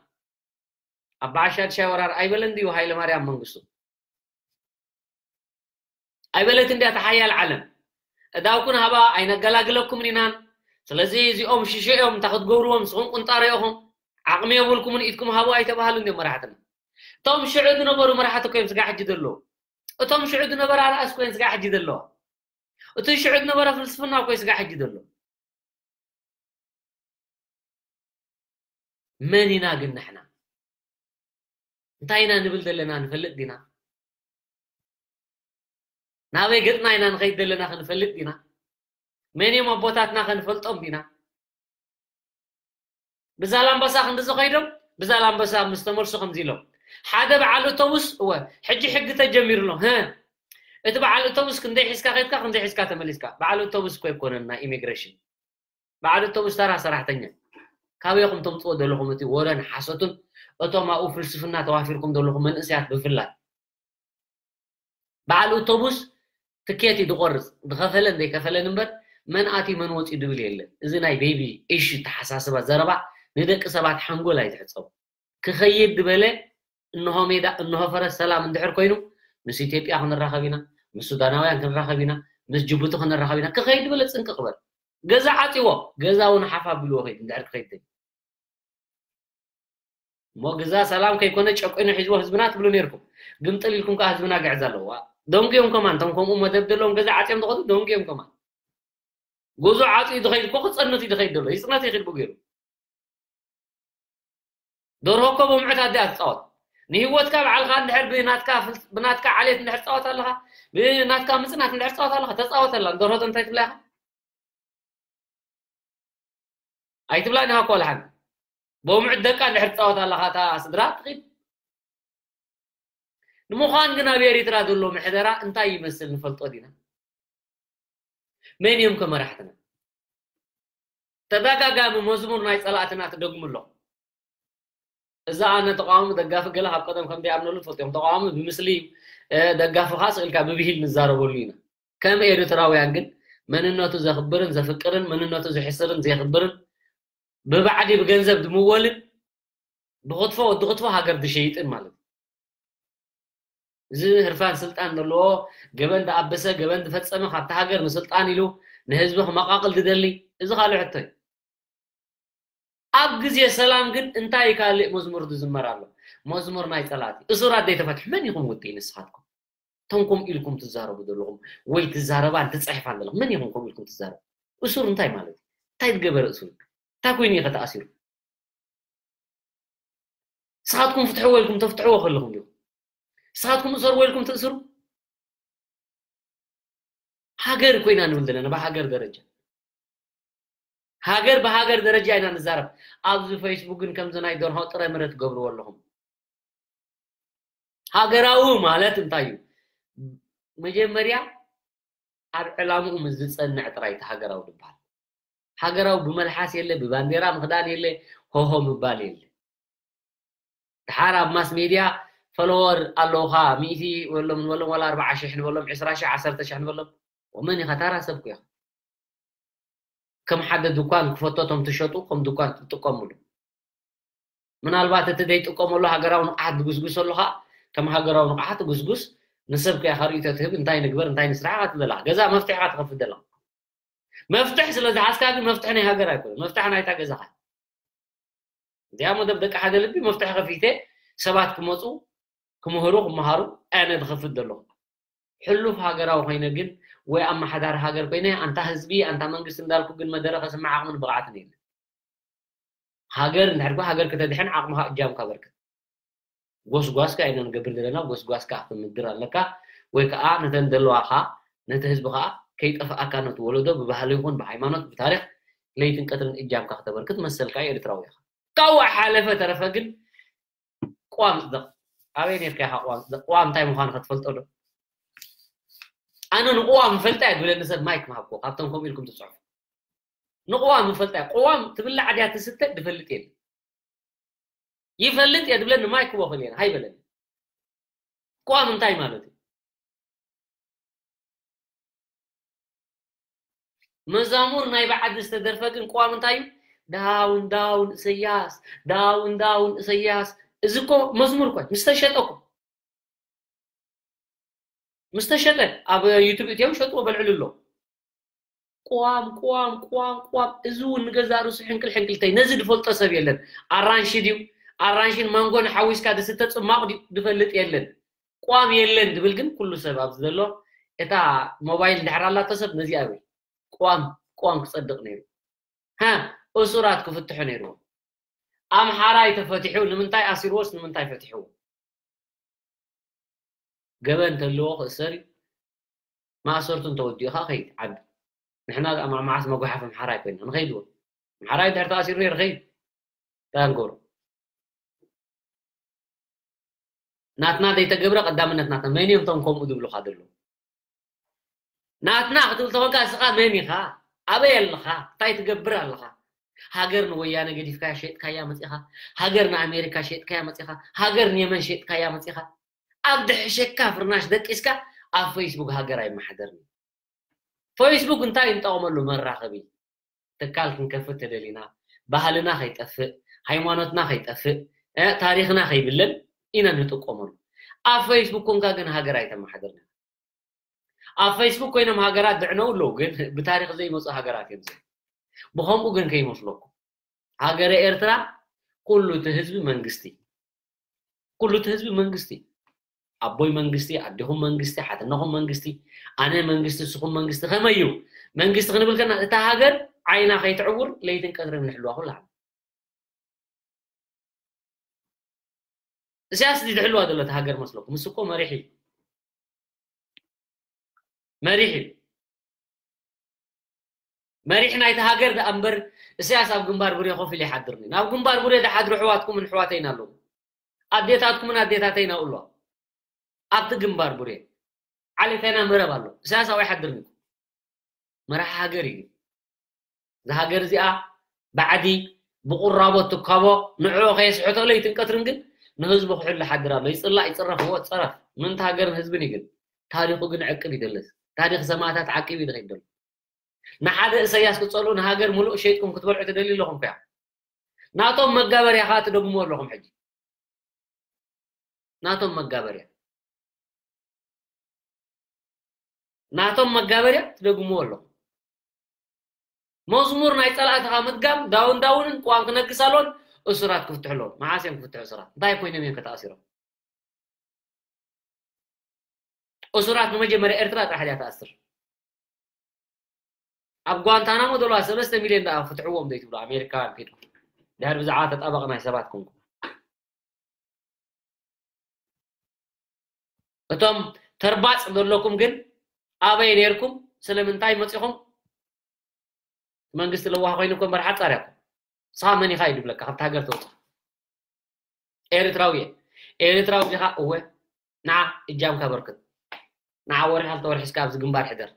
ኣባ ዓሻ ድሻይ ወራር ኣይበለን ድዩ ሃይለ ማርያም መንግስቱ? ኣይበለት እንድያ እታ ሓያል ዓለም። እዳውኩን ሃባ ኣይነገላግለኩምን ኢናን። ስለዚ እዚኦም ሽሾ እዮም፣ እንታይ ክትገብርዎም ንስኹም ቁንጣሮ ኢኹም። ዓቕሚ የብልኩምን ኢድኩም ሃቡ ኣይተባሃሉ እንድዮም መራሕትና። እቶም ሽዑ ዝነበሩ መራሕቲ እኮ እዮም ስጋዕ ሕጂ ዘለዉ። እቶም ሽዑ ዝነበራ ርኣስ እኮ እዮም ስጋዕ ሕጂ ዘለዋ። እቲ ሽዑ ዝነበረ ፍልስፍና እኮ እዩ ስጋዕ ሕጂ ዘሎ። መን ኢና ግን ንሕና? እንታይ ኢና ንብል ዘለና ንፈልጥ ዲና? ናበይ ገጽና ኢና ንኸይድ ዘለና ክንፈልጥ ዲና? መን እዮም ኣቦታትና ክንፈልጦም ዲና? ብዛላምበሳ ክንድዚ ኸይዶም፣ ብዛላምበሳ ምስ ተመልሱ ከምዚ ኢሎም፣ ሓደ በዓል ኣውቶቡስ፣ እወ፣ ሕጂ ሕጊ ተጀሚሩ ኣሎ። ህ፣ እቲ በዓል ኣውቶቡስ ክንደይ ሒዝካ ኸይድካ፣ ክንደይ ሒዝካ ተመሊስካ? በዓል ኣውቶቡስ እኮ ኣይኮነን ናይ ኢሚግሬሽን። በዓል ኣውቶቡስ ተራ ሰራሕተኛ። ካበይ ኢኹም ተምጽዎ ዘለኹም እቲ ወረን ሓሶትን እቶም ኣብኡ ፍልስፍና ተዋፊርኩም ዘለኹም መንእሰያት ብፍላይ? በዓል ኣውቶቡስ ትኬት እዩ ዝቆርጽ፣ ዝኸፈለን ዘይከፈለን እምበር መን ኣትዩ መን ወጽዩ ዝብል የለን። እዚ ናይ ቤቢ ኢሹ ተሓሳስባ ዘረባ ንደቂ ሰባት ሓንጎል ኣይትሕጸቡ። ክኸይድ ዝበለ እንሆ ሜዳ፣ እንሆ ፈረስ ሰላም እንድሕር ኮይኑ፣ ምስ ኢትዮጵያ ክንራኸብ ኢና፣ ምስ ሱዳናውያን ክንራኸብ ኢና፣ ምስ ጅቡቲ ክንራኸብ ኢና። ክኸይድ ዝበለ ጽንቅቕ በል። ገዛ ዓጽዎ፣ ገዛ እውን ሓፍ ኣቢልዎ ኸይድ፣ እንድሕር ክኸይድ ተይሉ። እሞ ገዛ ሰላም ከይኮነ ጨቂኑ ሒዝዎ ህዝብና ትብሉ ነይርኩም። ግምጥል ኢልኩም ከዓ ህዝብና ግዕዝ ኣለዎ። ደንጉዮም ከማን፣ እቶም ከምኡ መደብ ዘለዎም ገዛ ዓጽዮም ዝኸዱ ደንጉዮም ከማን። ገዝኡ ዓጽዩ ዝኸይድ እኮ ክጸንት እዩ ዝኸይድ ዘሎ፣ ይጽነት እዩ ክድቡ ገይሩ። ደርሆ እኮ ብምዕት ኣዲኣ ትጻወት። ንህይወትካ ባዕልኻ እንድሕር ብናትካ ፍል-፣ ብናትካ ዓሌት እንድሕር ትጻወት ኣለኻ፣ ብናትካ ምጽናት እንድሕር ትጻወት ኣለኻ፣ ተጻወት ኣላ። ንደርሆ እንታይ ትብላ ኢኻ? ኣይትብላን ኢኻ እኮ ወላ ሓንቲ። ብምዕት ደቃ እንድሕር ትጻወት ኣለኻ፣ እታ ስድራ ትኺድ። ንምዃን ግን ኣብ ኤሪትራ ዘሎ ምሕደራ እንታይ ይመስል ንፈልጦ ዲና? መን እዮም ከ መራሕትና? ተደጋጋሚ መዝሙር ናይ ጸላእትና ትደግሙ ኣለኹም። እዛ ኣነ ተቃዋሚ ደጋፊ ገለ ካብ ቀደም ከም ዘይኣምነሉ ትፈልጡ እዮም። ተቃዋሚ ብምስሊ፣ እ፣ ደጋፊ ኸኣ ስእልካ ብብሂል ንዛረበሉ ኢና። ከም ኤርትራውያን ግን መንነቱ ዘኽብርን ዘፍቅርን መንነቱ ዝሕስርን ዘየኽብርን ብባዕዲ ብገንዘብ ዝምወልን ብኽትፎ ወዲ ኽትፎ ሃገር ዝሸይጥን ማለት እዩ። እዚ ህርፋን ስልጣን ዘለዎ ገበን ዝኣበሰ ገበን ዝፈጸመ ካብቲ ሃገር ንስልጣን ኢሉ ንህዝቢ ክመቓቕል ዝደሊ እዚ ካልእ ሕቶ እዩ። ኣብ ግዜ ሰላም ግን እንታይ ካልእ መዝሙር ዝዝመር ኣሎ? መዝሙር ናይ ጸላእቲ። እሱራት ዘይተፈትሑ መን ኢኹም ውጥይ ንስኻትኩም? እቶም ከምኡ ኢልኩም ትዛረቡ ዘለኹም ወይ ትዛረባን ትጽሕፋን ዘለኹም መን ኢኹም ከምኡ ኢልኩም ትዛረቡ? እሱር እንታይ ማለት እዩ? እንታይ ዝገበረ እሱር? እንታይ ኮይኑ እዩ ከተኣሲሩ? ንስኻትኩም ፍትሕዎ ኢልኩም ተፍትሕዎ ከለኹም ዲኹም? ንስኻትኩም እሰርዎ ኢልኩም ትእስሩ? ሃገር ኮይና ንብል ዘለና ብሃገር ደረጃ። ሃገር ብሃገር ደረጃ ኢና ንዛረብ። ኣብዚ ፌስቡክ ግን ከምዚ ናይ ደርሆ ጥረ ምረ ትገብርዎ ኣለኹም። ሃገራዊ ማለት እንታይ እዩ? መጀመርያ ኣብ ዕላምኡ ምስ ዝጸንዕ ጥራይ እቲ ሃገራዊ ዝበሃል። ሃገራዊ ብመልሓስ የለ፣ ብባንዴራ ምኽዳን የለ፣ ሆሆ ምባል የለ። ድሓር ኣብ ማስ ሜድያ ፎሎወር ኣለውኻ፣ ሚእቲ ንበሎም ንበሎም፣ ዋላ ኣርብዓ ሽሕ ንበሎም፣ ዕስራ ሽሕ፣ ዓሰርተ ሽሕ ንበሎም። ወመን ኢኻ? ታራ ሰብ እኮ ኢኻ። ከም ሓደ ድኳን ክፈቶ፣ እቶም ትሸጡ ከም ድኳን ትጥቀምሉ። ምናልባት እቲ ዘይጥቀመሉ ሃገራዊ ንቕሓት ትጉስጉስ ኣለኻ፣ ከም ሃገራዊ ንቕሓት ትጉስጉስ፣ ንሰብ ከያ ርእይቶ ትህብ፣ እንታይ ንግበር፣ እንታይ ንስራሕ ኢኻ ትብል ዘለኻ። ገዛ መፍትሒ ኢኻ ትኸፍት ዘለኻ። መፍትሒ ስለ ዝሓዝካ ግን መፍትሒ ናይ ሃገር ኣይኮነን፣ መፍትሒ ናይታ ገዛኻ። እዚኣ መደብ ደቂ ሓደ ልቢ መፍትሒ ከፊተ ሰባት ክመፁ፣ ክምህሩ፣ ክመሃሩ ኣነ ዝኸፍት ዘለኹ። ሕሉፍ ሃገራዊ ኮይነ ግን ወይ ኣመሓዳሪ ሃገር ኮይነ ኣንታ ህዝቢ፣ ኣንታ መንግስቲ እንዳልኩ ግን መደረ ከስምዕ ዓቕምን ብቕዓትን የለን። ሃገር እንድሕር እኳ ሃገር ከተድሕን ዓቕምኻ እጃምካ በርክት። ጎስጓስካ ኢና ንገብር ዘለና፣ ጎስጓስካ ክትምድር ኣለካ። ወይ ከዓ ነተን ዘለዋኻ ነቲ ህዝቢ ከዓ ከይጠፍኣካ ነቲ ወለዶ ብባህሊ ይኹን ብሃይማኖት ብታሪክ ለይትን ቀትርን እጃምካ ክተበርክት መሰልካ እዩ፣ ኤርትራዊ ኢኻ። ካብኡ ሓለፈ ተረፈ ግን ቅዋም ጽደቕ። ኣበይ ነርካ ኢኻ ቅዋም ጽደቕ? ቅዋም እንታይ ምዃኑ ክትፈልጦ ዶ? ኣነ ንቅዋም ፈልጣ እየ ዝብለኒ ሰብ ማይክ ምሃብኩ፣ ካብቶም ከምኡ ኢልኩም ትጽሕፉ። ንቅዋም ፈልጣ እየ። ቅዋም ትብላዕ ድያ ትስተ ድፈልጥ የለ። ይፈልጥ እየ ድብለኒ ማይክ ክቦኽል እየ፣ ሃይበለኒ። ቅዋም እንታይ ማለት እዩ? መዛሙር ናይ ብዓዲ ዝተደርፈ ግን ቅዋም እንታይ እዩ? ዳውን ዳውን እሰያስ፣ ዳውን ዳውን እሰያስ። እዚ እኮ መዝሙር እኮ እዩ፣ ምስ ተሸጠ እኮ። ምስ ተሸጠ ኣብ ዩቱብ እትዮም ሸጥዎ በልዕሉ ኣሎ። ቅዋም፣ ቅዋም፣ ቅዋም፣ ቅዋም። እዚ እውን ንገዛእ ርእሱ ሕንቅል ሕንቅልተይ። ነዚ ዝፈልጦ ሰብ የለን። ኣራንሺ ድዩ? ኣራንሺን ማንጎን ሓዊስካ ዝስተ ጽማቕ ድዩ? ዝፈልጥ የለን። ቅዋም የለን ዝብል ግን ኩሉ ሰብ ኣብዚ ዘሎ፣ እታ ሞባይል እንድሕር ኣላቶ ሰብ ነዚኣ ይብል። ቅዋም፣ ቅዋም ክጸድቕ ነይሩ። ሃ፣ እሱራት ክፍትሑ ነይርዎም። ኣምሓራይ ተፈቲሑ፣ ንምንታይ ኣሲርዎስ ንምንታይ ፈቲሕዎ? ገበን እንተለዎ ክእሰር እዩ። ማእሰርቱ እንተወዲኡ ኸዓ ኸይድ ዓዲ። ንሕና ደኣ መዓስ መጓሓፍ ኣምሓራይ ኮይና ንኸይድ እውን። ኣምሓራይ እንድሕር ተኣሲሩ ነይሩ ኸይድ። እንታይ ንገብሮ? ናትና ዘይተገብረ ቀዳምነት ናትና። መን እዮም እቶም ከምኡ ዝብሉኻ ዘለዉ? ናትና ክትብል ተኾንካ እስኻ መን ኢኻ? ኣበይ ኣለኻ? እንታይ ትገብር ኣለኻ? ሃገር ንወያነ ገዲፍካያ ሸይጥካያ መጺኻ፣ ሃገር ንኣሜሪካ ሸይጥካያ መጺኻ፣ ሃገር ንየመን ሸይጥካያ መጺኻ። ኣብ ድሕሸካ ፍርናሽ ደቂስካ ኣብ ፌስቡክ ሃገር ኣይመሓደርን። ፌስቡክ እንታይ ንጠቕመሉ መራኸቢ? ትካል ክንከፍት ተደሊና፣ ባህልና ከይጠፍእ፣ ሃይማኖትና ከይጠፍእ፣ እ፣ ታሪኽና ከይብለል ኢና ንጥቀመሉ። ኣብ ፌስቡክ ኮንካ ግን ሃገር ኣይተመሓድርና። ኣብ ፌስቡክ ኮይኖም ሃገራት ድዕነው ኣለዉ፣ ግን ብታሪኽ ዘይመፁ ሃገራት እዮም ዘ-፣ ብኸምኡ ግን ከይመስለኩም። ሃገረ ኤርትራ ኩሉ እቲ ህዝቢ መንግስቲ። ኩሉ እቲ ህዝቢ መንግስቲ። ኣቦይ መንግስቲ፣ ኣዴኹም መንግስቲ፣ ሓትነኹም መንግስቲ፣ ኣነ መንግስቲ፣ ንስኹም መንግስቲ። ከመይ እዩ? መንግስቲ ክንብል ከለና እታ ሃገር ዓይና ከይትዕውር ለይትን ቀትርን ንሕልዋ ኩላህና። እዚኣስ ድዩ ዝሕልዋ ዘሎ እታ ሃገር መስለኩም? ምስ እኮ መሪሕ እዩ። መሪሕ እዩ። መሪሕ ናይቲ ሃገር ደኣ እምበር እሳያስ ኣብ ግንባር ቡሬ ኮፍ ኢሉ ይሓድርኒ። ናብ ግንባር ቡሬ ዝሓድሩ ኣሕዋትኩምን ኣሕዋተይን ኣለዉ። ኣዴታትኩምን ኣዴታተይን ኣብኡ ኣለዋ። ኣብቲ ግንባር ቡሬ ዓሌታይና መረብ ኣሎ። እሳያስ ኣብኡ ይሓድርኒ። መራሒ ሃገር እዩ። እዛ ሃገር እዚኣ ባዕዲ ብቁራቦት ትካቦ ንዕኡ ከየስሕቶ ለይትን ቀትርን ግን ንህዝቡ ክሕሉ ሓድር ኣሎ። ይጽላእ ይጽረፍ፣ እወ ጸረፍ። ምንታ ሃገርን ህዝብን እዩ ግን። ታሪኹ ግን ዕቅብ ይደለስ። ታሪኽ ሰማእታት ዓቂብ እዩ ዝኸይድ ዘሎ። ንሓደ እሰያስ ክትጸልኡ ንሃገር ምሉእ ሸይጥኩም ክትበልዑ ትደልዩ ኣለኹም ከያ። ናቶም መጋበርያ ከኣ ትደግምዎ ኣለኹም ሕጂ። ናቶም መጋበርያ። ናቶም መጋበርያ ትደግምዎ ኣለኹም። መዝሙር ናይ ጸላእትኻ ምድጋም ዳውን ዳውንን ቅዋም ክነግስ ኣሎን እሱራት ክፍትሑ ኣለዎም። መዓስ እዮም ክፍትሑ እሱራት? እንታይ ኮይኖም እዮም ከተኣሲሮም? እሱራት ንመጀመርያ ኤርትራ ጥራሕ እያ ተኣስር። ኣብ ጓንታናሞ ዘለዋ ሰለስተ ሚልዮን ደኣ ፍትሕዎም ዘይትብሉ ኣሜሪካውያን ኪዱ። ድሕሪ ብዛዕባ ተጣበቕ ናይ ሰባት ኮንኩ። እቶም ተርባጽ ዘለኩም ግን ኣበይ ነርኩም? ስለምንታይ መጺኹም? መንግስቲ ለዋህ ኮይኑ እኮ እምበር ሓጻር እያ እኮ። ንስኻ መን ኢኻ እዩ ድብለካ ካብቲ ሃገር ትወጽእ? ኤርትራዊ እየ። ኤርትራዊ ዲኻ? እወ። ንዓ እጃምካ በርክት። ንዓ ወርሒ ክልተ ወርሒ እስከ ኣብዚ ግንባር ሕደር።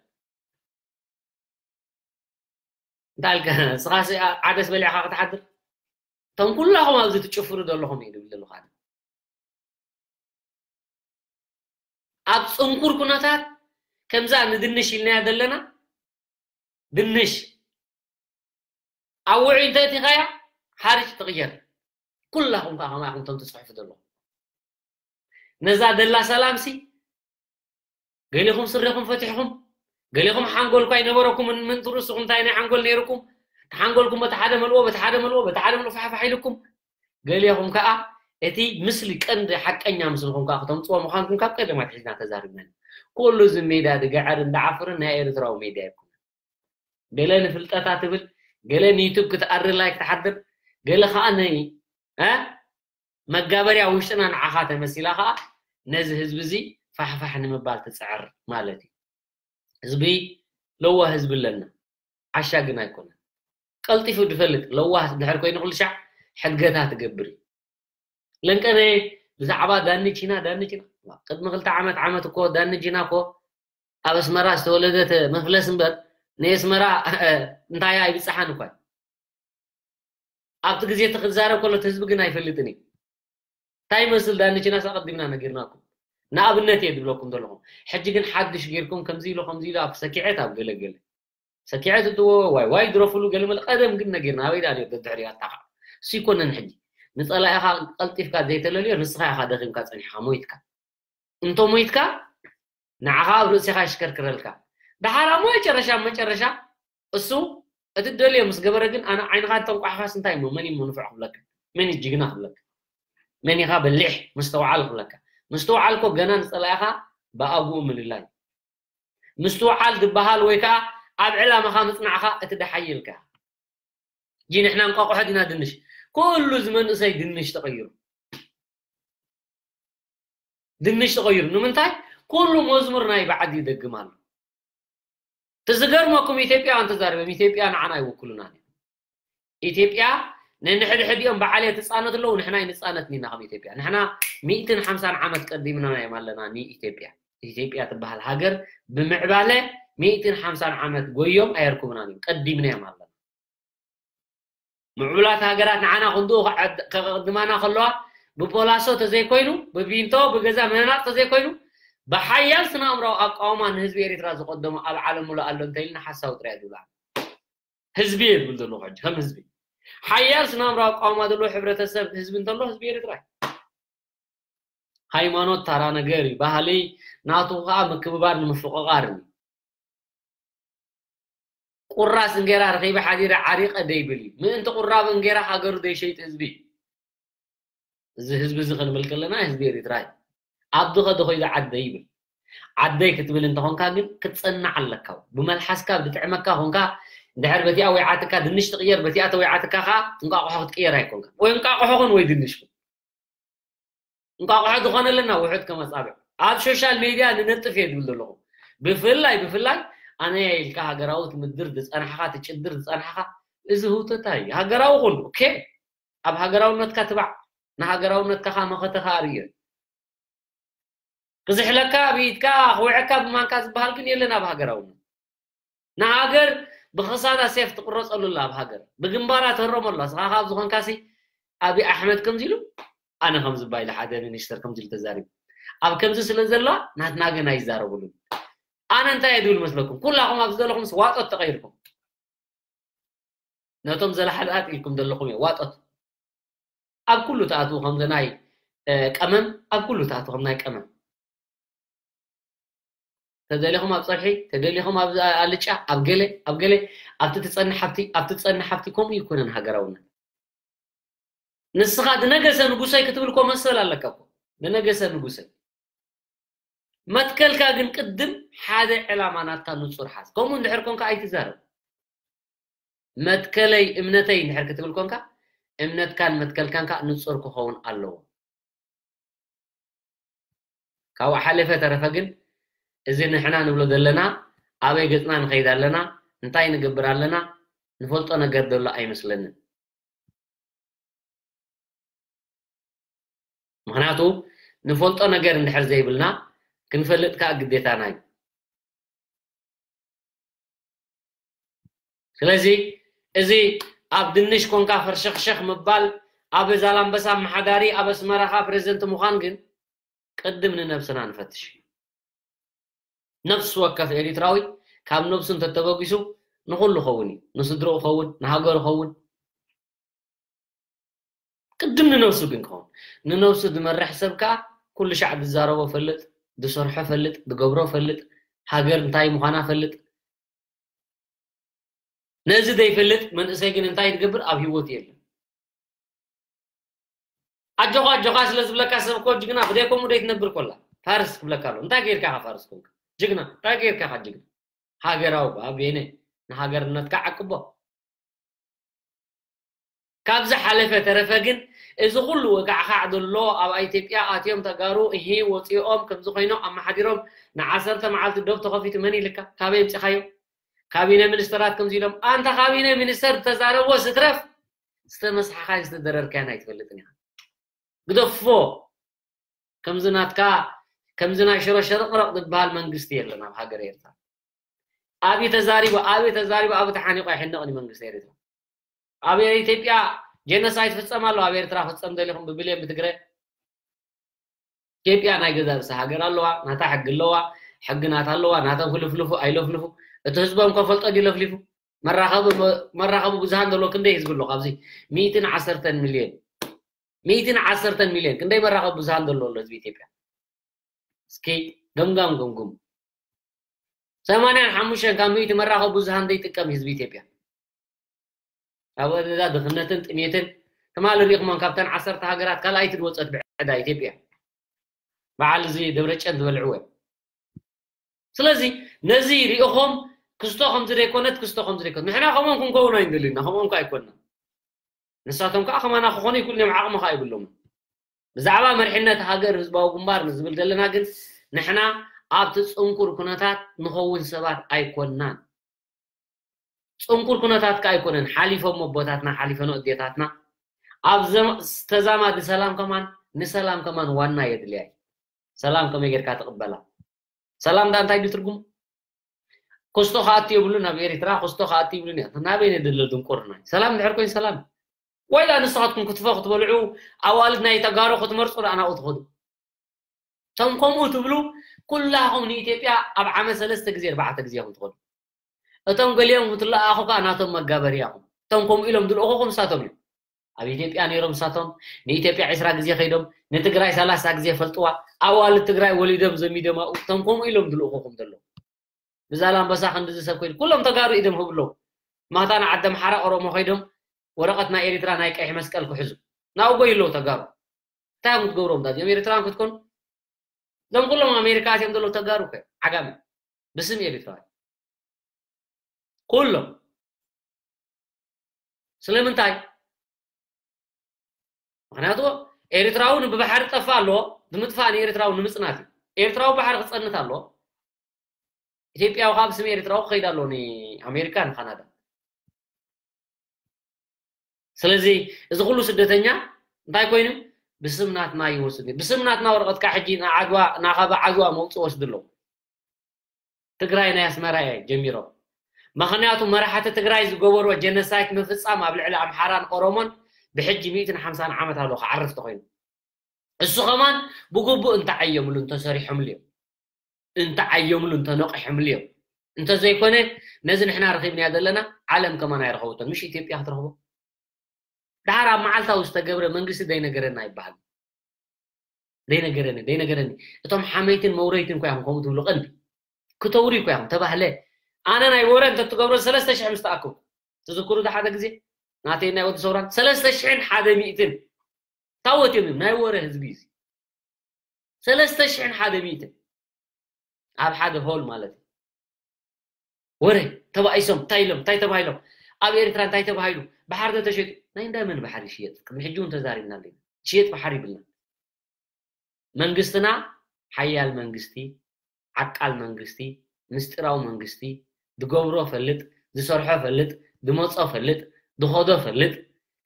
እንታይ ኢልካ? ንስኻስ ዓ-፣ ዓደስ በሊዕኻ ክትሓድር? እቶም ኩላኹም ኣብዚ ትጭፍሩ ዘለኹም እዩ ድብል ዘለኹ ኣነ። ኣብ ጽንኩር ኩነታት ከምዛ ንድንሽ ኢልናያ ዘለና ድንሽ ኣብ ውዑይ እንተእቲኻያ ሓርጭ ትቕየር። ኩላኹም ከኣ ከማኹም እቶም ትጽሕፉ ዘለኹም። ነዛ ደላ ሰላምሲ ገሌኹም ስረኹም ፈቲሕኹም፣ ገሌኹም ሓንጎል እኳ ኣይነበረኩምን፣ ምእንቲ ርእስኹም እንታይ ናይ ሓንጎል ነይርኩም፣ ሓንጎልኩም በቲ ሓደ መልዎ፣ በቲ ሓደ መልዎ፣ በቲ ሓደ መልዎ ፋሕፋሕ ኢልኩም፣ ገሌኹም ከኣ እቲ ምስሊ ቀንዲ ሓቀኛ ምስልኹም ከኣ ክተምጽዎ ምዃንኩም ካብ ቀደም ኣትሒዝና ተዛሪብና ኢና። ኩሉ እዚ ሜድያ ድግዕር እንዳዓፈረ ናይ ኤርትራዊ ሜድያ ኣይኮነን። ገለ ንፍልጠታ ትብል፣ ገለ ንዩቱብ ክትኣሪ ላይክ ትሓድር፣ ገለ ከኣ ናይ፣ እ? መጋበርያ ውሽጥና ንዓኻ ተመሲላ ከኣ ነዚ ህዝቢ እዚ ፋሕፋሕ ንምባል ትጽዕር ማለት እዩ። ህዝቢ ለዋህ ህዝቢ ኣለና። ዓሻ ግን ኣይኮነን። ቀልጢፉ ድፈልጥ ለዋህ ድሕር ኮይኑ ኩሉ ሻዕ ሕድገታት ትገብር እዩ። ለንቀነ ብዛዕባ ዳንቺና፣ ዳንቺና፣ ቅድሚ ክልተ ዓመት፣ ዓመት እኮ ዳንቺና እኮ ኣብ ኣስመራ ዝተወለደት መፍለስ እምበር፣ ንኣስመራ እንታይ ኣይብጽሓን እኳ። ኣብቲ ግዜ እቲ ክዛረብ ከሎ እቲ ህዝቢ ግን ኣይፈልጥን እዩ። እንታይ ይመስል ዳንቺናስ ኣቐዲምና ነጊርናኩም። ንኣብነት እየ ዝብለኩም ዘለኹ። ሕጂ ግን ሓድሽ ጌርኩም ከምዚ ኢሉ፣ ከምዚ ኢሉ ኣብ ሰኪዐት ኣብ ገለ ገለ። ሰኪዐት እትዎ ዋይ ዋይ ድረፍሉ ገለ መለ ቀደም ግን ነጊርና። ኣበይ ደኣ ነይሩ ደድሕሪኡ ኣጣቓዕ። እሱ ይኮነን ሕጂ። ንጸላኢኻ ቀልጢፍካ ዘይተለልዮ ንስኻ ኢኻ ደኺምካ ጸኒሕካ ሞይትካ። እንቶ ሞይትካ ንዓኻ ኣብ ርእስኻ ይሽከርክረልካ። ደሓር ኣብ መጨረሻ፣ ኣብ መጨረሻ እሱ እቲ ደልዮ ምስ ገበረ ግን ኣነ ዓይንኻ እንተንቋሕኻስ እንታይ እሞ መን እዩ እሞ ንፉዕ ክብለካ? መን እዩ ጅግና ክብለካ? መን ኢኻ በሊሕ ምስተውዓል ክብለካ? ምስተውዓል እኮ ገና ንጸላኢኻ ብኣግኡ ምልላይ። ምስትውዓል ዝበሃል ወይ ከኣ ኣብ ዕላማኻ ምጽናዕኻ እቲ ደሓየልካ። ጂ ንሕና እንቋቑሖ ዲና ድንሽ? ኩሉ እዚ መንእሰይ ድንሽ ተቐይሩ። ድንሽ ተቐይሩ። ንምንታይ? ኩሉ መዝሙር ናይ ብዓዲ ይደግም ኣሎ። እቲ ዝገርመኩም ኢትዮጵያውያን ተዛሪቦም፣ ኢትዮጵያ ንዓና ኣይውክሉናን እዮም። ኢትዮጵያ ነንሕድሕዲኦም በዓል እየ ትጻነት ኣለዉ፣ ንሕና ኣይንጻነትን ኢና ከም ኢትዮጵያ። ንሕና ሚእትን ሓምሳን ዓመት ቀዲምና እዮም ኣለና ንኢትዮጵያ። ኢትዮጵያ ትበሃል ሃገር ብምዕባለ ሚእትን ሓምሳን ዓመት ጎዮም ኣየርኩብናን እዮም፣ ቀዲምናዮም ኣለና። ምዕቡላት ሃገራት ንዓና ክንድኡ ክዕድ-፣ ከቐድማና ከለዋ ብፖላሶ ተዘይኮይኑ፣ ብቢንቶ፣ ብገዛ ምህናጽ ተዘይኮይኑ፣ ብሓያል ስነ-ኣእምራዊ ኣቃውማ ንህዝቢ ኤሪትራ ዝቐደሙ ኣብ ዓለም ሙሉእ ኣሎ እንተኢልና ሓሳዊ ጥራይ እዩ ዝብላ። ህዝቢ እየ ዝብል ዘለኹ ሕጂ፣ ከም ህዝቢ። ሓያል ስነ-ኣእምራዊ ኣቃውማ ዘለዎ ሕብረተሰብ፣ ህዝቢ እንተሎ ህዝቢ ኤሪትራ እዩ። ሃይማኖት ታራ ነገር እዩ። ባህሊ ናቱ ከኣ ምክብባር ንምፍቕቓር እዩ። ቁራስ እንጌራ ረኺበ ሓዲረ ዓሪቐ ደይብል እዩ። ምእንቲ ቁራብ እንጌራ ሃገሩ ደይሸይጥ ህዝቢ እዩ። እዚ ህዝቢ እዚ ክንብል ከለና ህዝቢ ኤሪትራ እዩ። ዓዲ ከዶ ኮይዱ ዓደይ ይብል። ዓደይ ክትብል እንተኾንካ ግን ክትጸንዕ ኣለካ። ብመልሓስካ ዝጥዕመካ ኾንካ፣ እንድሕር በቲኣ ወይዓትካ ድንሽ ትቕየር፣ በቲኣ ተወይዓትካ ኸኣ እንቋቑሖ ክትቅየር ኣይኮንካ። ወይ እንቋቑሖ ኹን ወይ ድንሽ ኹን። እንቋቑሖ ዝኾነልና ውሑድ ከመጻብዕ። ኣብ ሶሻል ሜድያ ንነጥፍ እየ ዝብል ዘለኹ። ብፍላይ፣ ብፍላይ ኣነ ኢልካ ሃገራዊ ትምድር ዝጸናሕኻ፣ ትጭድር ዝጸናሕኻ፣ እዚ ህውተታ እዩ። ሃገራዊ ኹን፣ ኦኬ። ኣብ ሃገራውነትካ ትባዕ፣ ንሃገራውነትካ ከኣ መኸተ ከኣ ርእዮ። ክዝሕለካ ብኢድካ፣ ክውዐካ ብማንካ ዝበሃል ግን የለን ኣብ ሃገራውነት። ንሃገር ብኸሳዳ ሴፍ ትቁረጸሉ ኣላ ኣብ ሃገር። ብግንባራ ትህረሞ ኣላ። ንስኻ ካብ ዝኾንካሲ ኣብይ ኣሕመድ ከምዚ ኢሉ፣ ኣነ ከምዚ ባይለ ሓደ ሚኒስተር ከምዚ ኢሉ ተዛሪቡ። ኣብ ከምዚ ስለ ዘላ ናትና ግን ኣይዛረቡሉን። ኣነ እንታይ እየ ዝብል መስለኩም? ኩላኹም ኣብዚ ዘለኹምስ ዋጦት ተቐይርኩም። ነቶም ዘለሓልኣት ኢልኩም ዘለኹም እየ ዋጦት። ኣብ ኩሉ ትኣትዉ ከም ናይ፣ እ፣ ቀመም፣ ኣብ ኩሉ ትኣትዉ ከም ናይ ቀመም። ተደሊኹም ኣብ ጸብሒ፣ ተደሊኹም ኣብ ኣልጫ፣ ኣብ ገለ፣ ኣብ ገለ፣ ኣብቲ ትጸንሕ ሃብቲ፣ ኣብቲ ትጸንሕ ሃብቲ ከምኡ ይኮነን ሃገራውነት። ንስኻ ድነገሰ ንጉሰይ ክትብል እኮ መሰል ኣለካ እኮ። ድነገሰ ንጉሰይ። መትከልካ ግን ቅድም ሓደ ዕላማ ናትካ ንጹር ሓዝ። ከምኡ እንድሕር ኮንካ ኣይትዛረብ። መትከለይ እምነተይ እንድሕር ክትብል ኮንካ፣ እምነትካን መትከልካን ከኣ ንጹር ክኸውን ኣለዎ። ካብኡ ሓለፈ ተረፈ ግን፣ እዚ ንሕና ንብሎ ዘለና፣ ኣበይ ገጽና ንኸይድ ኣለና፣ እንታይ ንገብር ኣለና፣ ንፈልጦ ነገር ዘሎ ኣይመስለንን። ምኽንያቱ፣ ንፈልጦ ነገር እንድሕር ዘይብልና፣ ክንፈልጥ ከኣ ግዴታና እዩ። ስለዚ፣ እዚ ኣብ ድንሽ ኮንካ ፈርሸኽሸኽ ምባል፣ ኣብ ዛላምበሳ ኣመሓዳሪ፣ ኣብ ኣስመራኻ ፕሬዝደንት ምዃን ግን፣ ቅድም ንነብስና ንፈትሽ። ነፍሲ ወከፍ ኤሪትራዊ ካብ ነብሱ እንተተበጊሱ ንኹሉ ኸውን እዩ። ንስድርኡ ኸውን፣ ንሃገሩ ኸውን። ቅድም ንነብሱ ግን ክኸውን። ንነብሱ ዝመርሕ ሰብ ከኣ ኩሉ ሻዕ ዝዛረቦ ፈልጥ፣ ዝሰርሖ ፈልጥ፣ ዝገብሮ ፈልጥ፣ ሃገር እንታይ ምዃና ፈልጥ። ነዚ ዘይፈልጥ መንእሰይ ግን እንታይ ትገብር? ኣብ ህይወት የለን። ኣጆኻ፣ ኣጆኻ ስለ ዝብለካ ሰብ እኮ ጅግና፣ ብደይ ከምኡ ደይ ትነብር ኮላ። ፋርስ ክብለካ ኣሎ። እንታይ ጌርካ ኢኻ ፋርስ ኮንካ? ጅግና፣ እንታይ ጌርካ ኢኻ ጅግና? ሃገራዊ፣ ብኣቤነ፣ ንሃገርነትካ ዓቅቦ። ካብዚ ሓለፈ ተረፈ ግን፣ እዚ ኩሉ ወጋዕኻዕ ዘሎ ኣብ ኢትዮጵያ ኣትዮም ተጋሩ፣ እሂ፣ ወፂኦም፣ ከምዚ ኮይኖም፣ ኣመሓዲሮም፣ ንዓሰርተ መዓልቲ ዶብ ተኸፊቱ መን ኢልካ? ካበይ ኣምፂኻዮ? ካቢነ ሚኒስተራት ከምዚ ኢሎም፣ ኣንታ ካቢነ ሚኒስተር ዝተዛረብዎ ስትረፍ፣ ዝተመስሓኻን ዝተደረርካን ኣይትፈልጥን ኢኻ። ግደፎ። ከምዚ ናትካ፣ ከምዚ ናይ ሽሮ ሸርቕረቕ ዝበሃል መንግስቲ የለን ኣብ ሃገር ኤርትራ። ኣብይ ተዛሪቡ፣ ኣብይ ተዛሪቡ፣ ኣብይ ተሓኒቑ ኣይሕነቕን እዩ መንግስቲ ኤርትራ። ኣብ ኢትዮጵያ ጄኖሳይድ ፍጸም ኣሎ፣ ኣብ ኤርትራ ፍጸም ደሊኹም ብብልየን ብትግረ። ኢትዮጵያ ናይ ገዛ ርእሳ ሃገር ኣለዋ፣ ናታ ሕጊ ኣለዋ፣ ሕጊ ናታ ኣለዋ፣ ናቶም ክልፍልፉ ኣይለፍልፉ። እቲ ህዝቦም ከፈልጦ ድዩ ለፍሊፉ? መራኸቢ፣ መራኸቢ ብዙሃን ዘለዎ ክንደይ ህዝቢ ኣሎ? ካብዚ ሚእትን ዓሰርተን ሚልዮን፣ ሚእትን ዓሰርተን ሚልዮን ክንደይ መራኸቢ ብዙሃን ዘለዎ ኣሎ ህዝቢ ኢትዮጵያ? እስኪ ገምጋም ገምግሙ። ሰማንያን ሓሙሽተን ካብ ሚእቲ መራኸቢ ብዙሃን ዘይጥቀም ህዝቢ ኢትዮጵያ። ኣብ ወረዳ ድኽነትን ጥሜትን ትማሊ ሪኢኹሞም፣ ካብተን ዓሰርተ ሃገራት ካልኣይቲ ዝወፀት ብዕዳ ኢትዮጵያ። በዓል እዚ ደብረጨን ዝበልዕዎ እዮም። ስለዚ ነዚ ሪኢኹም ክስቶ ከምዚ ዘይኮነት፣ ክስቶ ከምዚ ዘይኮነት። ንሕና ከምኦም ክንከውን ኣይንደልን ኢና፣ ከምኦም ከ ኣይኮንና። ንሳቶም ከኣ ከማና ክኾኑ ይክእሉ እዮም፣ ዓቕሚ ከኣ ይብሎምን። ብዛዕባ መሪሕነት ሃገር ህዝባዊ ግንባር ንዝብል ዘለና ግን ንሕና ኣብቲ ጽንኩር ኩነታት ንኸውን ሰባት ኣይኮንናን። ጽንኩር ኩነታት ከኣ ኣይኮነን፣ ሓሊፎም ኣቦታትና፣ ሓሊፈን ኣዴታትና። ኣብ ዘመ-፣ ተዛማዲ ሰላም ከማን፣ ንሰላም ከማን ዋና የድልያ እዩ። ሰላም ከመይ ጌርካ ትቕበላ? ሰላም ዳ እንታይ ድዩ ትርጉሙ? ኮስቶ ክኣቱ የብሉን ናብ ኤሪትራ፣ ኮስቶ ክኣቱ የብሉን እያ። ናበይ ነድለ ድንቁርና? ሰላም ድሕር ኮይኑ ሰላም። ወይላ ንስኻትኩም ክትፎ ክትበልዑ፣ ኣዋልድ ናይ ተጋሩ ክትመርጹ ደኣ ናብኡ ትኸዱ። እቶም ከምኡ ትብሉ፣ ኩላኹም ንኢትዮጵያ ኣብ ዓመት ሰለስተ ግዜ፣ ኣርባዕተ ግዜ ኢኹም ትኸዱ። እቶም ገሊኦም ክትለኣኹ ከኣ ናቶም መጋበርያ ኢኹም። እቶም ከምኡ ኢሎም ዝልእኹኹም ንሳቶም እዮም። ኣብ ኢትዮጵያ ነይሮም ንሳቶም፣ ንኢትዮጵያ ዕስራ ግዜ ከይዶም፣ ንትግራይ ሰላሳ ግዜ ፈልጥዋ፣ ኣዋልድ ትግራይ ወሊዶም ዘሚዶም ኣብኡ፣ እቶም ከምኡ ኢሎም ዝልእኹኹም ዘለዉ። ብዛላምበሳ ክንድዚ ሰብ ኮይኑ፣ ኩሎም ተጋሩ ኢዶም ህቡ ኣለዉ። ማታ ንዓዲ ኣምሓራ ኦሮሞ ከይዶም፣ ወረቐት ናይ ኤሪትራ ናይ ቀይሕ መስቀል ክሕዙ። ናብኡ ጎዩ ኣለዉ ተጋሩ። እንታይ እዮም ክትገብሮም ዳዚኦም? ኤሪትራውያን ክትኮኑ? እዞም ኩሎም ኣሜሪካ ኣትዮም ዘለዉ ተጋሩ እኮ እዮም። ዓጋመ። ብስም ኤሪትራውያን። ኩሎም። ስለምንታይ? ምኽንያቱ ኤሪትራዊ ንብባሕሪ ጠፋ ኣለዎ፣ ብምጥፋእ ንኤሪትራዊ ንምጽናት እዩ። ኤሪትራዊ ባሕሪ ክጸንት ኣለዎ። ኢትዮጵያዊ ካብ ስም ኤሪትራዊ ክኸይድ ኣለዎ ንኣሜሪካ፣ ንካናዳ። ስለዚ እዚ ኩሉ ስደተኛ እንታይ ኮይኑ? ብስም ናትና ይወስድ። ብስም ናትና ወረቐትካ ሕጂ ንዓድዋ፣ ናኻባ ዓድዋ መውፅእ ወስድ ኣለዎ። ትግራይ ናይ ኣስመራ እየ ጀሚሮም። ምኽንያቱ መራሕቲ ትግራይ ዝገበርዎ ጀኖሳይድ ምፍፃም ኣብ ልዕሊ ኣምሓራን ኦሮሞን ብሕጂ ሚእትን ሓምሳን ዓመት ኣሎ ክዓርፍ ተኾይኑ። እሱ ከማን ብግቡእ እንተዓየምሉ እንተሰሪሖምሉ እዮም። እንተዓየምሉ እንተነቂሖምሉ እዮም። እንተዘይኮነ ነዚ ንሕና ረኺብናዮ ዘለና ዓለም ከማን ኣይረኸበቶን። ምሽ ኢትዮጵያ ክትረኽቦ? ደሓር ኣብ መዓልታዊ ዝተገብረ መንግስቲ ዘይነገረና ይበሃል። ዘይነገረኒ፣ ዘይነገረኒ። እቶም ሓመይትን መውረይትን እኮ እዮም ከምኡ ትብሉ ቀንዲ። ክተውሪ እኮ እዮም፣ ተባህለ። ኣነ ናይ ወረ እንተትገብሮ ሰለስተ ሽሕ ምስ ተኣከብኩ። ትዝክሩ ዶ ሓደ ግዜ? ናተይ ናይ ወዲ ሰውራን ሰለስተ ሽሕን ሓደ ሚእትን። ታወት እዮም ናይ ወረ ህዝቢ እዚ ሰለስተ ሽሕን ሓደ ሚእትን ኣብ ሓደ ሆል ማለት እዩ። ወረ ተባኢሶም እንታይ ኢሎም እንታይ ተባሂሎም ኣብ ኤርትራ እንታይ ተባሂሉ ባሕር ተተሸጡ ናይ እንዳመን ባሕር ይሽየጥ ቅድሚ ሕጂ እውን ተዛሪብና ኣለና። ሽየጥ ባሕር ይብልና መንግስትና ሓያል መንግስቲ ዓቃል መንግስቲ ምስጢራዊ መንግስቲ ዝገብሮ ፈልጥ ዝሰርሖ ፈልጥ ዝመጾ ፈልጥ ዝኸዶ ፈልጥ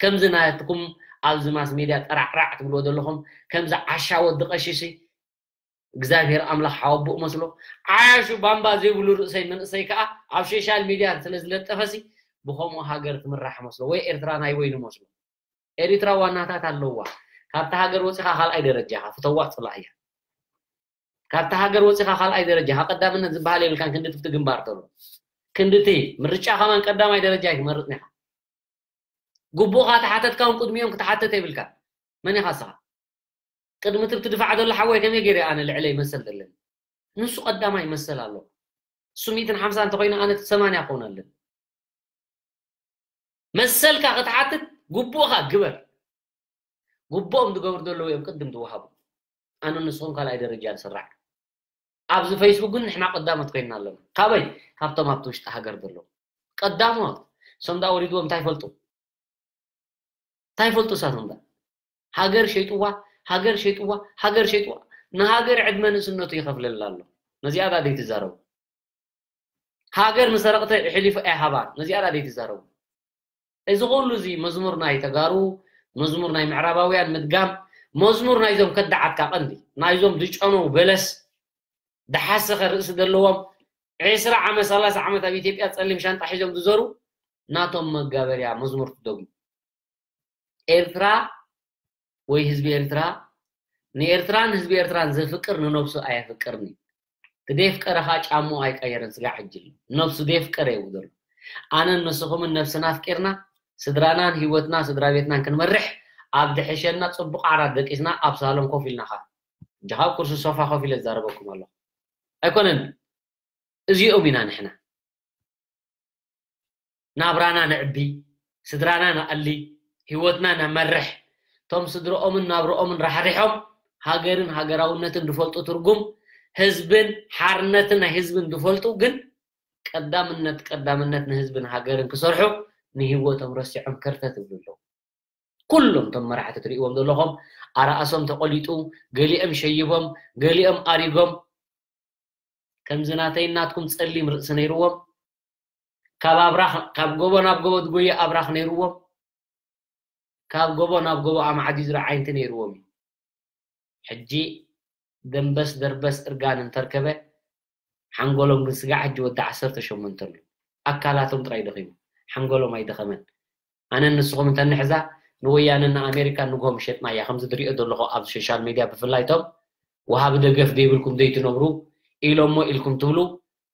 ከምዚ ናትኩም ኣብዚ ማስ ሚድያ ጠራዕራዕ ትብልዎ ዘለኹም ከምዚ ዓሻ ወዲ ቀሺሲ እግዚኣብሔር ኣምላኽ ሓወቡኡ መስሎ ዓያሹ ባምባ ዘይብሉ ርእሰይ መንእሰይ ከዓ ኣብ ሶሻል ሚድያ ስለ ዝለጠፈሲ ብኸምኡ ሃገር ትምራሕ መስሎ ወይ ኤርትራ ናይ ወይኑ መስሎ ኤሪትራ ዋናታት ኣለዋ ካብታ ሃገር ወፂኻ ካልኣይ ደረጃ ኢኻ ፍተዋ ፅላእ እያ ካብታ ሃገር ወፂኻ ካልኣይ ደረጃ ኢኻ ቀዳምነት ዝበሃል የብልካን ክንድቲ ፍቲ ግንባር ተሎ ክንድቲ ምርጫ ከማን ቀዳማይ ደረጃ ኣይትመርፅን ኢኻ ግቡእኻ ተሓተትካ እውን ቅድሚኦም ክትሓተት የብልካ መን ኢኻ ስኻ ቅድሚ ትብቲ ድፋዕ ዘሎ ሓወይ ከመይ ገይረ ኣነ ልዕለይ መሰል ዘለኒ ንሱ ቀዳማይ መሰል ኣሎ እሱ ሚእትን ሓምሳ እንተኮይኑ ኣነ ሰማንያ ክኸውን ኣለኒ መሰልካ ክትሓትት ግቡእኻ ግበር ግቡኦም ዝገብሩ ዘለዉ እዮም ቅድም ዝወሃቡ ኣነ ንስኹም ካልኣይ ደረጃ ዝስራሕ ኣብዚ ፌስቡክ ግን ንሕና ቀዳሞት ኮይንና ኣለና ካበይ ካብቶም ኣብቲ ውሽጢ ሃገር ዘለዉ ቀዳሞት እሶም ዳ ወሪድዎም እንታይ ፈልጡ እንታይ ፈልጡ እሳቶም ዳ ሃገር ሸይጥዋ ሃገር ሸይጥዋ ሃገር ሸይጥዋ ንሃገር ዕድመ ንእስነቱ ይኸፍለላ ኣሎ ነዚኣ ዳ ዘይትዛረቡ ሃገር ንሰረቕቲ ኣሕሊፉ ኣይሃባን ነዚኣ ዳ ዘይትዛረቡ እዚ ኩሉ እዚ መዝሙር ናይ ተጋሩ መዝሙር ናይ ምዕራባውያን ምድጋም መዝሙር ናይዞም ከዳዓትካ ቀንዲ ናይዞም ዝጨነው በለስ ድሓሰኸ ርእሲ ዘለዎም ዕስራ ዓመት ሰላሳ ዓመት ኣብ ኢትዮጵያ ጸሊም ሻንጣ ሒዞም ዝዞሩ ናቶም መጋበርያ መዝሙር ትደግሙ ኤርትራ ወይ ህዝቢ ኤርትራ ንኤርትራን ህዝቢ ኤርትራን ዘፍቅር ንነብሱ ኣየፍቅርን እዩ። እቲ ደፍቀረ ከዓ ጫምኡ ኣይቀየረን ስጋዕ ሕጂ ኣሎ። ነብሱ ደፍቀረ እዩ ዘሎ። ኣነን ንስኹምን ነብስና ኣፍቂርና ስድራናን ህይወትና ስድራ ቤትናን ክንመርሕ ኣብ ድሕሸና ጽቡቕ ዓራት ደቂስና ኣብ ሳሎን ኮፍ ኢልና ከዓ እጃኻ ኣብ ኩርሲ ሶፋ ኮፍ ኢለ ዝዛረበኩም ኣለኹ። ኣይኮነን እዚኦም ኢና ንሕና ናብራና ነዕቢ ስድራና ነኣሊ ህይወትና ነመርሕ እቶም ስድርኦምን ናብርኦምን ራሕሪሖም ሃገርን ሃገራውነትን ዝፈልጡ ትርጉም ህዝብን ሓርነትን ናይ ህዝብን ዝፈልጡ ግን ቀዳምነት ቀዳምነት ንህዝብን ሃገርን ክሰርሑ ንህይወቶም ረሲዖም ከርተት ይብሉ ኣለዉ ኩሎም እቶም መራሕቲ ትርእዎም ዘለኹም ኣርኣሶም ተቆሊጡ ገሊኦም ሸይቦም ገሊኦም ኣሪጎም ከምዚ ናተይ ናትኩም ጸሊም ርእሲ ነይርዎም ካብ ኣብራኽ ካብ ጎቦ ናብ ጎቦ ዝጎየ ኣብራኽ ነይርዎም ካብ ጎቦ ናብ ጎቦ ኣማዕዲ ዝረ ዓይንቲ ነይርዎም እዩ ሕጂ ደንበስ ደርበስ እርጋን እንተርከበ ሓንጎሎም ግን ስጋዕ ሕጂ ወዲ ዓሰርተ ሸሞንተ ኣሎ ኣካላቶም ጥራይ ደኺሙ ሓንጎሎም ኣይደኸመን ኣነ ንስኹም እንተ ንሕዛ ንወያነ ንኣሜሪካ ንግሆ ምሸጥና እያ ከምዚ ዝሪኦ ዘለኹ ኣብ ሶሻል ሚድያ ብፍላይ ቶም ወሃቢ ደገፍ ዘይብልኩም ዘይትነብሩ ኢሎሞ ኢልኩም ትብሉ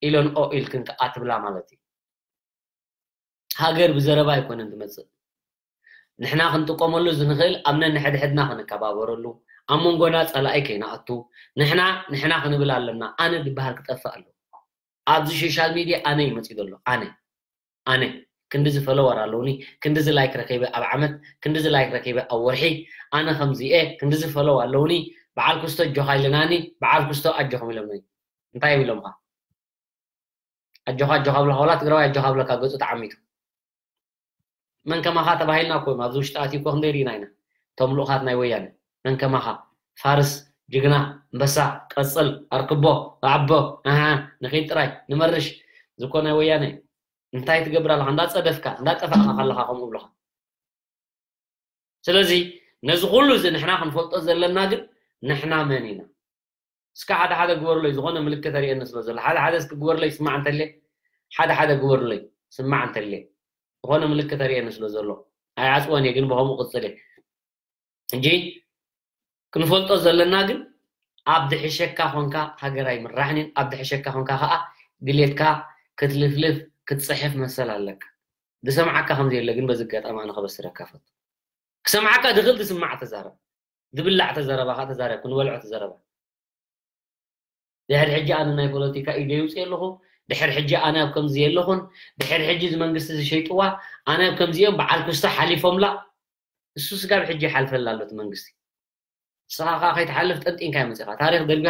ኢሎን ኦ ኢልክን ከዓ ትብላ ማለት እዩ ሃገር ብዘረባ ኣይኮነን ትመፅእ ንሕና ክንጥቀመሉ ዝንኽእል ኣብ ነንሕድሕድና ክንከባበረሉ ኣብ መንጎና ፀላኢ ከይንኣቱ ንሕና ንሕና ክንብል ኣለና ኣነ ዝበሃል ክጠፍእ ኣለዎ ኣብዚ ሶሻል ሚድያ ኣነ ይመፅእ ዘሎ ኣነ ኣነ ክንድዚ ፈለወር ኣለውኒ ክንድዚ ላይክ ረከይበ ኣብ ዓመት ክንድዚ ላይክ ረከይበ ኣብ ወርሒ ኣነ ከምዚኤ ክንድዚ ፈለው ኣለውኒ በዓል ክስቶ ኣጆኻ ኢለናኒ በዓል ክስቶ ኣጆኹም ኢሎምኒ እንታይ እዮም ኢሎምኻ ኣጆኻ ኣጆኻ ብለካ ወላ ትግራዋይ ኣጆኻ ብለካ ገፁ ተዓሚቱ መን ከማኻ ተባሂልና እኮ ኣብዚ ውሽጢ ኣትዩ እኮ ክንደይ ርኢና ኢና እቶም ልኡኻት ናይ ወያነ መን ከማኻ ፋርስ ጅግና እምበሳ ቀፅል ኣርክቦ ኣዕቦ ኣሃ ንኺድ ጥራይ ንመርሽ ዝኮ ናይ ወያነ እንታይ ትገብር ኣለኻ እንዳፀደፍካ እንዳጠፋእካ ከለኻ ከምኡ ብለኻ ስለዚ ነዚ ኩሉ እዚ ንሕና ክንፈልጦ ዘለና ግን ንሕና መን ኢና እስከ ሓደ ሓደ ግበሩለይ ዝኾነ ምልክት ኣርእየኒ ስለ ዘሎ ሓደ ሓደ እስኪ ግበሩለይ ስማዕ እንተለ ሓደ ሓደ ግበሩለይ ስማዕ እንተለ ዝኾነ ምልክት ኣርእየኒ ስለ ዘሎ ኣይዓፅወን እየ ግን ብኸምኡ ቅፅል እየ ሕጂ ክንፈልጦ ዘለና ግን ኣብ ድሕሸካ ኮንካ ሃገር ኣይምራሕን እየን ኣብ ድሕሸካ ኮንካ ከዓ ድሌትካ ክትልፍልፍ ክትፅሕፍ መሰል ኣለካ ዝሰምዓካ ከምዘየለ ግን በዚ ኣጋጣሚ ኣነ ከበስረካ ፈቱ ክሰምዓካ ድኽእል ዝስማዕ ተዛረብ ዝብላዕ ተዘረባ ከዓ ተዛረብ ክንበልዖ ተዘረባ ድሕሪ ሕጂ ኣነ ናይ ፖለቲካ ኢደ ይውፅእ ኣለኹ ድሕሪ ሕጂ ኣነ ኣብ ከምዚ የለኹን ድሕሪ ሕጂ እዚ መንግስቲ ዝሸይጥዋ ኣነ ኣብ ከምዚኦም በዓል ክስቶ ሓሊፎምላ እሱ ስጋብ ሕጂ ይሓልፈላ ኣሎ እቲ መንግስቲ። ንስኻ ከዓ ከይትሓልፍ ጠንጢንካ ይመፅኻ። ታሪኽ ደልቢኻ